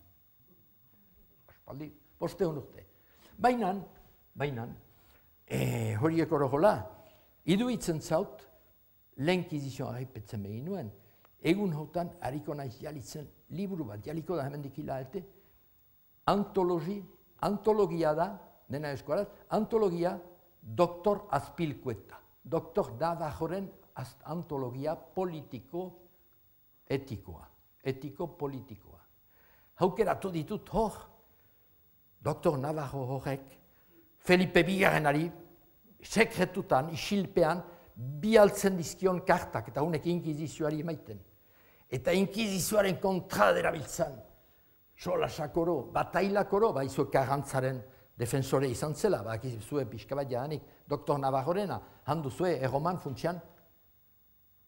Aspaldi, boste honurte. Bainan, bainan, e, horiek orogola, iduitzen zaut, lehenkizizioa haipetzen begin nuen, egun hautan hariko naiz jalitzen liburu bat, jaliko da hemen dikila ete, antologi, antologia da, dena eskuaraz, antologia doktor Azpilkueta. Doktor Navajoren antologia politiko-etikoa, etiko-politikoa. Haukeratu ditut hor, doktor Navajo horrek, Felipe Bigarrenari, sekretutan, isilpean, bialtzen dizkion kartak, eta honek inkizizioari emaiten. Eta inkizizioaren kontra derabiltzan, solasakoro, batailakoro, baizu karantzaren defensore izan zela, bak zue pixka bat jadanik, doktor Navajorena, handu zue erroman funtsian,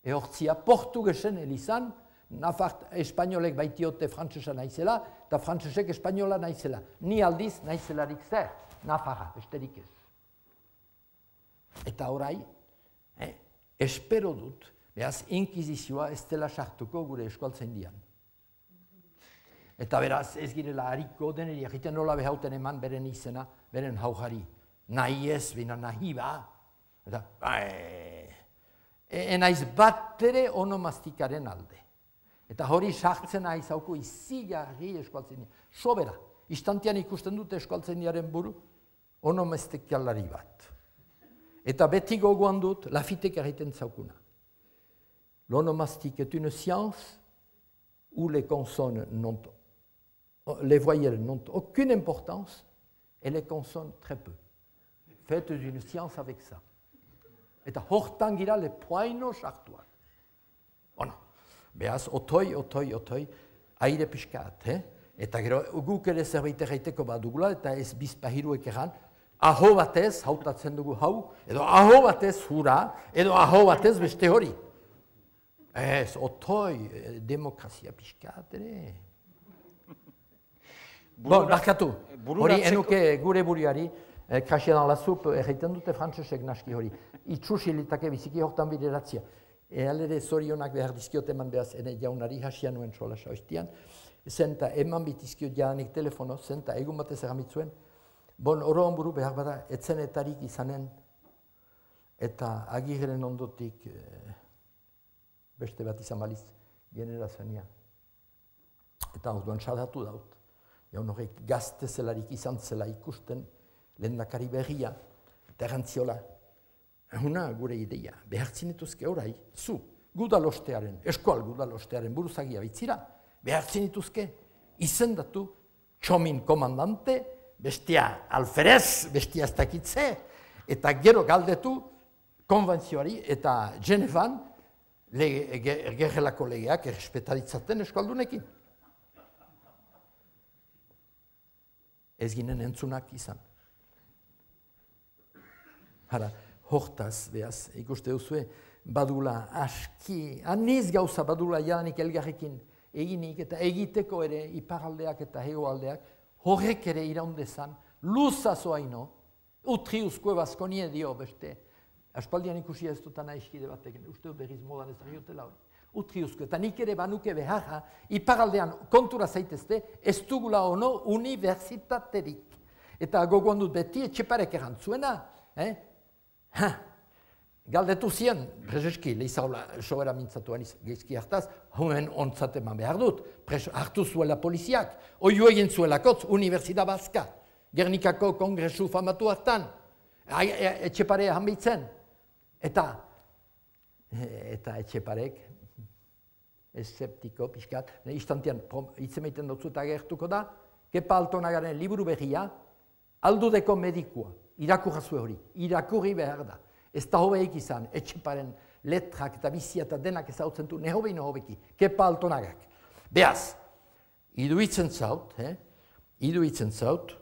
ehortzia portugesen elizan, Nafart espainolek baitiote frantzesa naizela, eta frantzesek espainola naizela. Ni aldiz naizelarik zer, Nafarra, besterik ez. Eta orai, eh, espero dut, behaz, inkizizioa ez dela sartuko gure eskualtzen dian. Eta beraz, ez girela hariko deneri, egiten nola behauten eman beren izena, beren haujari. Nahi ez, bina nahi ba. Eta, enaiz bat ere onomastikaren alde. Eta hori sartzen aiz hauko izigarri eskualtzen dian. Sobera, istantean ikusten dute eskualtzen diaren buru, onomastikalari bat. Eta beti gogoan dut, Lafitek egiten zaukuna. L'onomastique est une science où les consonnes n'ont les voyelles n'ont aucune importance et les consonnes très peu. Faites une science avec ça. Eta hortan gira le poaino sartuak. Bueno, behaz, otoi, otoi, otoi, aire pixkat, eh? Eta gero, guk ere zerbait erraiteko badugula, eta ez bizpahiruek egan, aho batez, hautatzen dugu hau, edo aho batez hura, edo aho batez beste hori. Ez, otoi, demokrazia pixkat, ere. Bon, barkatu, hori enuke gure buruari, krasea dan la zup, erraiten dute frantzesek naski hori. Itxusilitake biziki hortan bideratzia. Ealere zorionak behar dizkiot eman behaz, ene jaunari hasia nuen sola saoiztian, zenta eman bitizkiot jadanik telefono, zenta egun batez eramitzuen, bon, oroan buru behar bada, etzenetarik izanen, eta agirren ondotik beste bat izan baliz, generazioa. Eta orduan sadatu daut. Jaun horrek gazte zelarik izan zela ikusten lehendakari berria, eta erantziola, huna gure ideia, behartzen dituzke orai, zu, gudalostearen, eskual gudalostearen buruzagia bitzira, behartzen dituzke, izendatu, txomin komandante, bestia alferez, bestia ez dakitze, eta gero galdetu, konbentzioari, eta Genevan, gerrelako legeak errespetaritzaten eskualdunekin. Ez ginen entzunak izan. Hara, hortaz, behaz, ikuste duzue, badula aski, aniz gauza badula jadanik elgarrekin eginik eta egiteko ere iparaldeak eta hegoaldeak, horrek ere iraundezan, luzazo haino, utriuzko baskonie dio beste. Aspaldian ikusi ez dutan aizkide batek, uste dut berriz modan ez ariotela hori. Utriuzko, eta nik ere banuke beharra, iparaldean kontura zaitezte, ez dugula ono unibertsitaterik. Eta gogoan dut beti Etxeparek erantzuena. Eh? Ha, galdetu zian, prezeski, lehizagola sobera mintzatuan geizki hartaz, hoen ontzat eman behar dut, preso hartu zuela poliziak, oio egin zuelakotz, Universidad Baska, Gernikako kongresu famatu hartan, Etxepare hanbitzen. Eta, eta Etxeparek, eszeptiko, pixkat, instantian hitzemeiten dutzu eta gertuko da, Kepa Altonagaren liburu berria, aldudeko medikua, irakurrazue hori, irakurri behar da. Ez da hobeik izan, Etxeparen letrak eta bizia eta denak ezautzen du, nehobei nehobeki, Kepa Altonagak. Beaz, iduitzen zaut, eh? iduitzen zaut,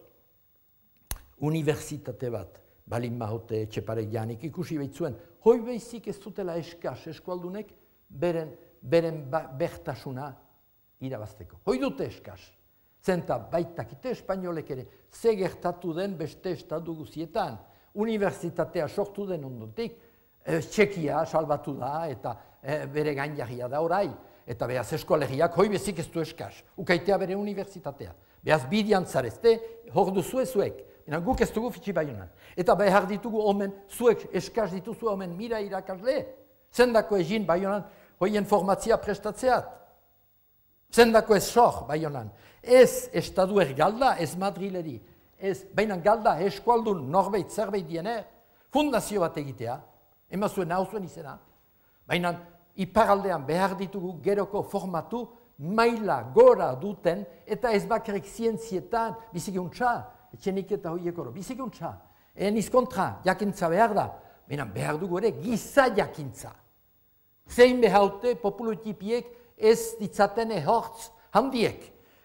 universitate bat, balin mahote Etxeparek janik ikusi behitzuen, hoi behizik ez dutela eskas eskualdunek, beren, beren bertasuna irabazteko. Hoi dute eskas. Zenta baitakite espainolek ere, ze gertatu den beste estatu guzietan, universitatea sortu den ondotik, e, Txekia salbatu da eta e, bere gainjarria da orai, eta behaz eskolegiak hoi bezik ez du eskas, ukaitea bere universitatea. Behaz bidian zarezte, hor duzu ezuek, guk ez dugu fitxi baionan. Eta behar ditugu omen, zuek eskas dituzu omen mira irakasle, zendako egin baionan, hoien formatzia prestatzeat. Zendako ez sor baionan. Ez estadu galda, ez Madrileri. Ez, baina galda eskualdun norbeit zerbait diener, fundazio bat egitea, emazuen hau zuen izena. Baina iparaldean behar ditugu geroko formatu, maila gora duten, eta ez bakarrik zientzietan, bizikuntza, etxenik eta hoiek oro, bizikuntza. Eniz kontra, jakintza behar da, baina behar dugu ere giza jakintza. Zein behaute populutipiek ez ditzaten ehortz handiek.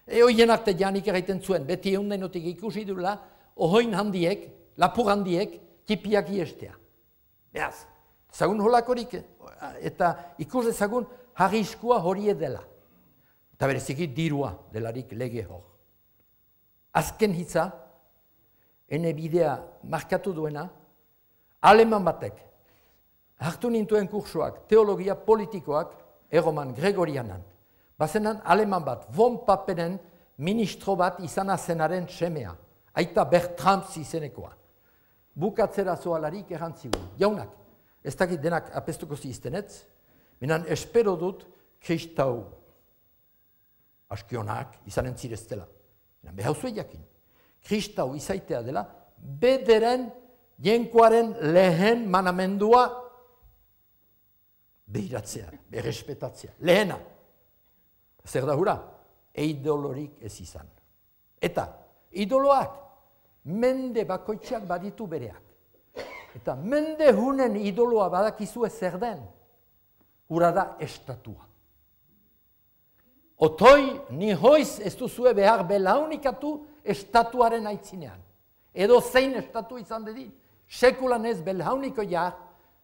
Eoien arte janik erraiten zuen, beti egun denotik ikusi dula, ohoin handiek, lapur handiek, tipiak iestea. Beaz, zagun holakorik, eta ikus dezagun harriskua horie dela. Eta bereziki dirua delarik lege hor. Azken hitza, ene bidea markatu duena, aleman batek, hartu nintuen kursoak, teologia politikoak, erroman Gregorianan. Bazenan aleman bat, von Papenen ministro bat izana zenaren semea. Aita Bertrams izenekoa. Bukatzera zoalarik errantzigu. Jaunak, ez dakit denak apestuko ziztenetz, minan espero dut kristau askionak izanen zireztela. Minan behauzue jakin. Kristau izaitea dela, bederen jenkoaren lehen manamendua behiratzea, berrespetatzea. Lehena. Zer da hura? Eidolorik ez izan. Eta, idoloak, mende bakoitzak baditu bereak. Eta mende hunen idoloa badakizu ez zer den, hura da estatua. Otoi, ni hoiz ez duzue behar belaunikatu estatuaren aitzinean. Edo zein estatu izan dedin, sekulan ez belauniko jar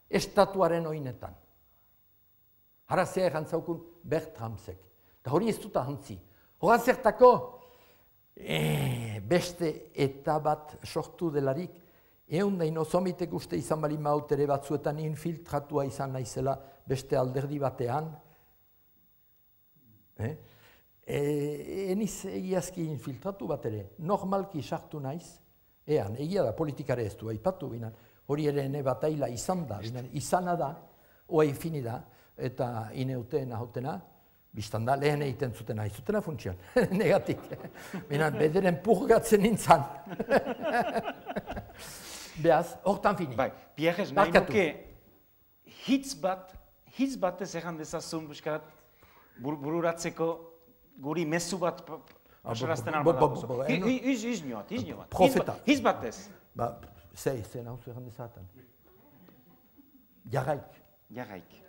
estatuaren oinetan. Hara zer jantzaukun Bertramsek. Eta hori ez dut ahantzi. Hora zertako e, beste eta bat sortu delarik, egun da inozomitek uste izan bali mautere batzuetan infiltratua izan naizela beste alderdi batean. Eh? E, eniz egiazki infiltratu bat ere, normalki sartu naiz, ean, egia da politikare ez du, aipatu binan, hori ere ene bataila izan da, binan, izana da, oai fini da, eta ineuteen ahotena, biztan da, lehen egiten zutena, izutena funtsian, negatik. Binan, bederen purgatzen nintzan. Beaz, hortan fini. Bai, Pierrez, nahi nuke, hitz bat, hitz bat ez egan dezazun, buskat, bururatzeko, guri mezu bat pasarazten alma dago. Hiz, hiz nioat, hiz nioat. Profeta. Hiz bat ez. Ba, zei, zei nahuzu egan dezaten. Jarraik. Jarraik.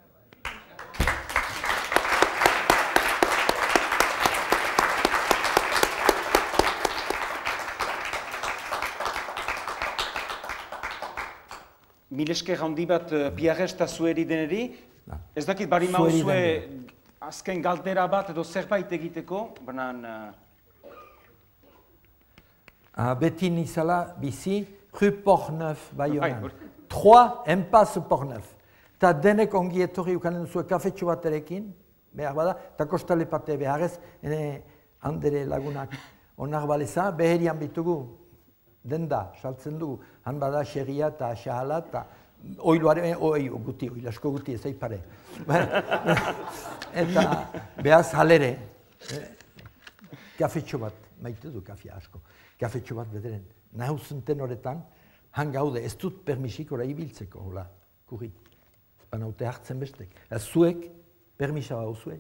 Milesker handi bat Pierrez eta zueri deneri, ez dakit bari mauzue azken galdera bat edo zerbait egiteko, banan... Beti nizala bizi, Rue Portneuf Baionan. Trois, Impasse Portneuf. Eta denek ongi etorri ukanen zuen kafetxo bat erekin, behar bada, eta kostale pate beharrez, ene handere lagunak onar baleza, beherian bitugu denda, saltzen dugu, han bada xerria eta xahala eta oiloaren, oi, guti, oilasko guti ez aipare. Eta behaz halere, kafetxo bat, maite du kafea asko, kafetxo bat bederen, nahuzenten horretan, han gaude, ez dut permisik ora ibiltzeko, hola, kurri. Banaute hartzen bestek. Zuek, permisa bauzue,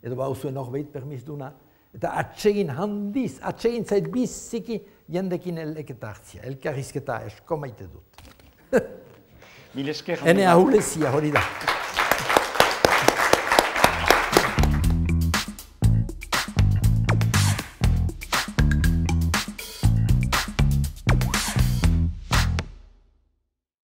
edo bauzue norbait permis duna, eta atsegin handiz, atsegin zait biziki jendekin eleketa hartzia, elkarrizketa esko maite dut. Mil esker. Hene ahulezia hori da.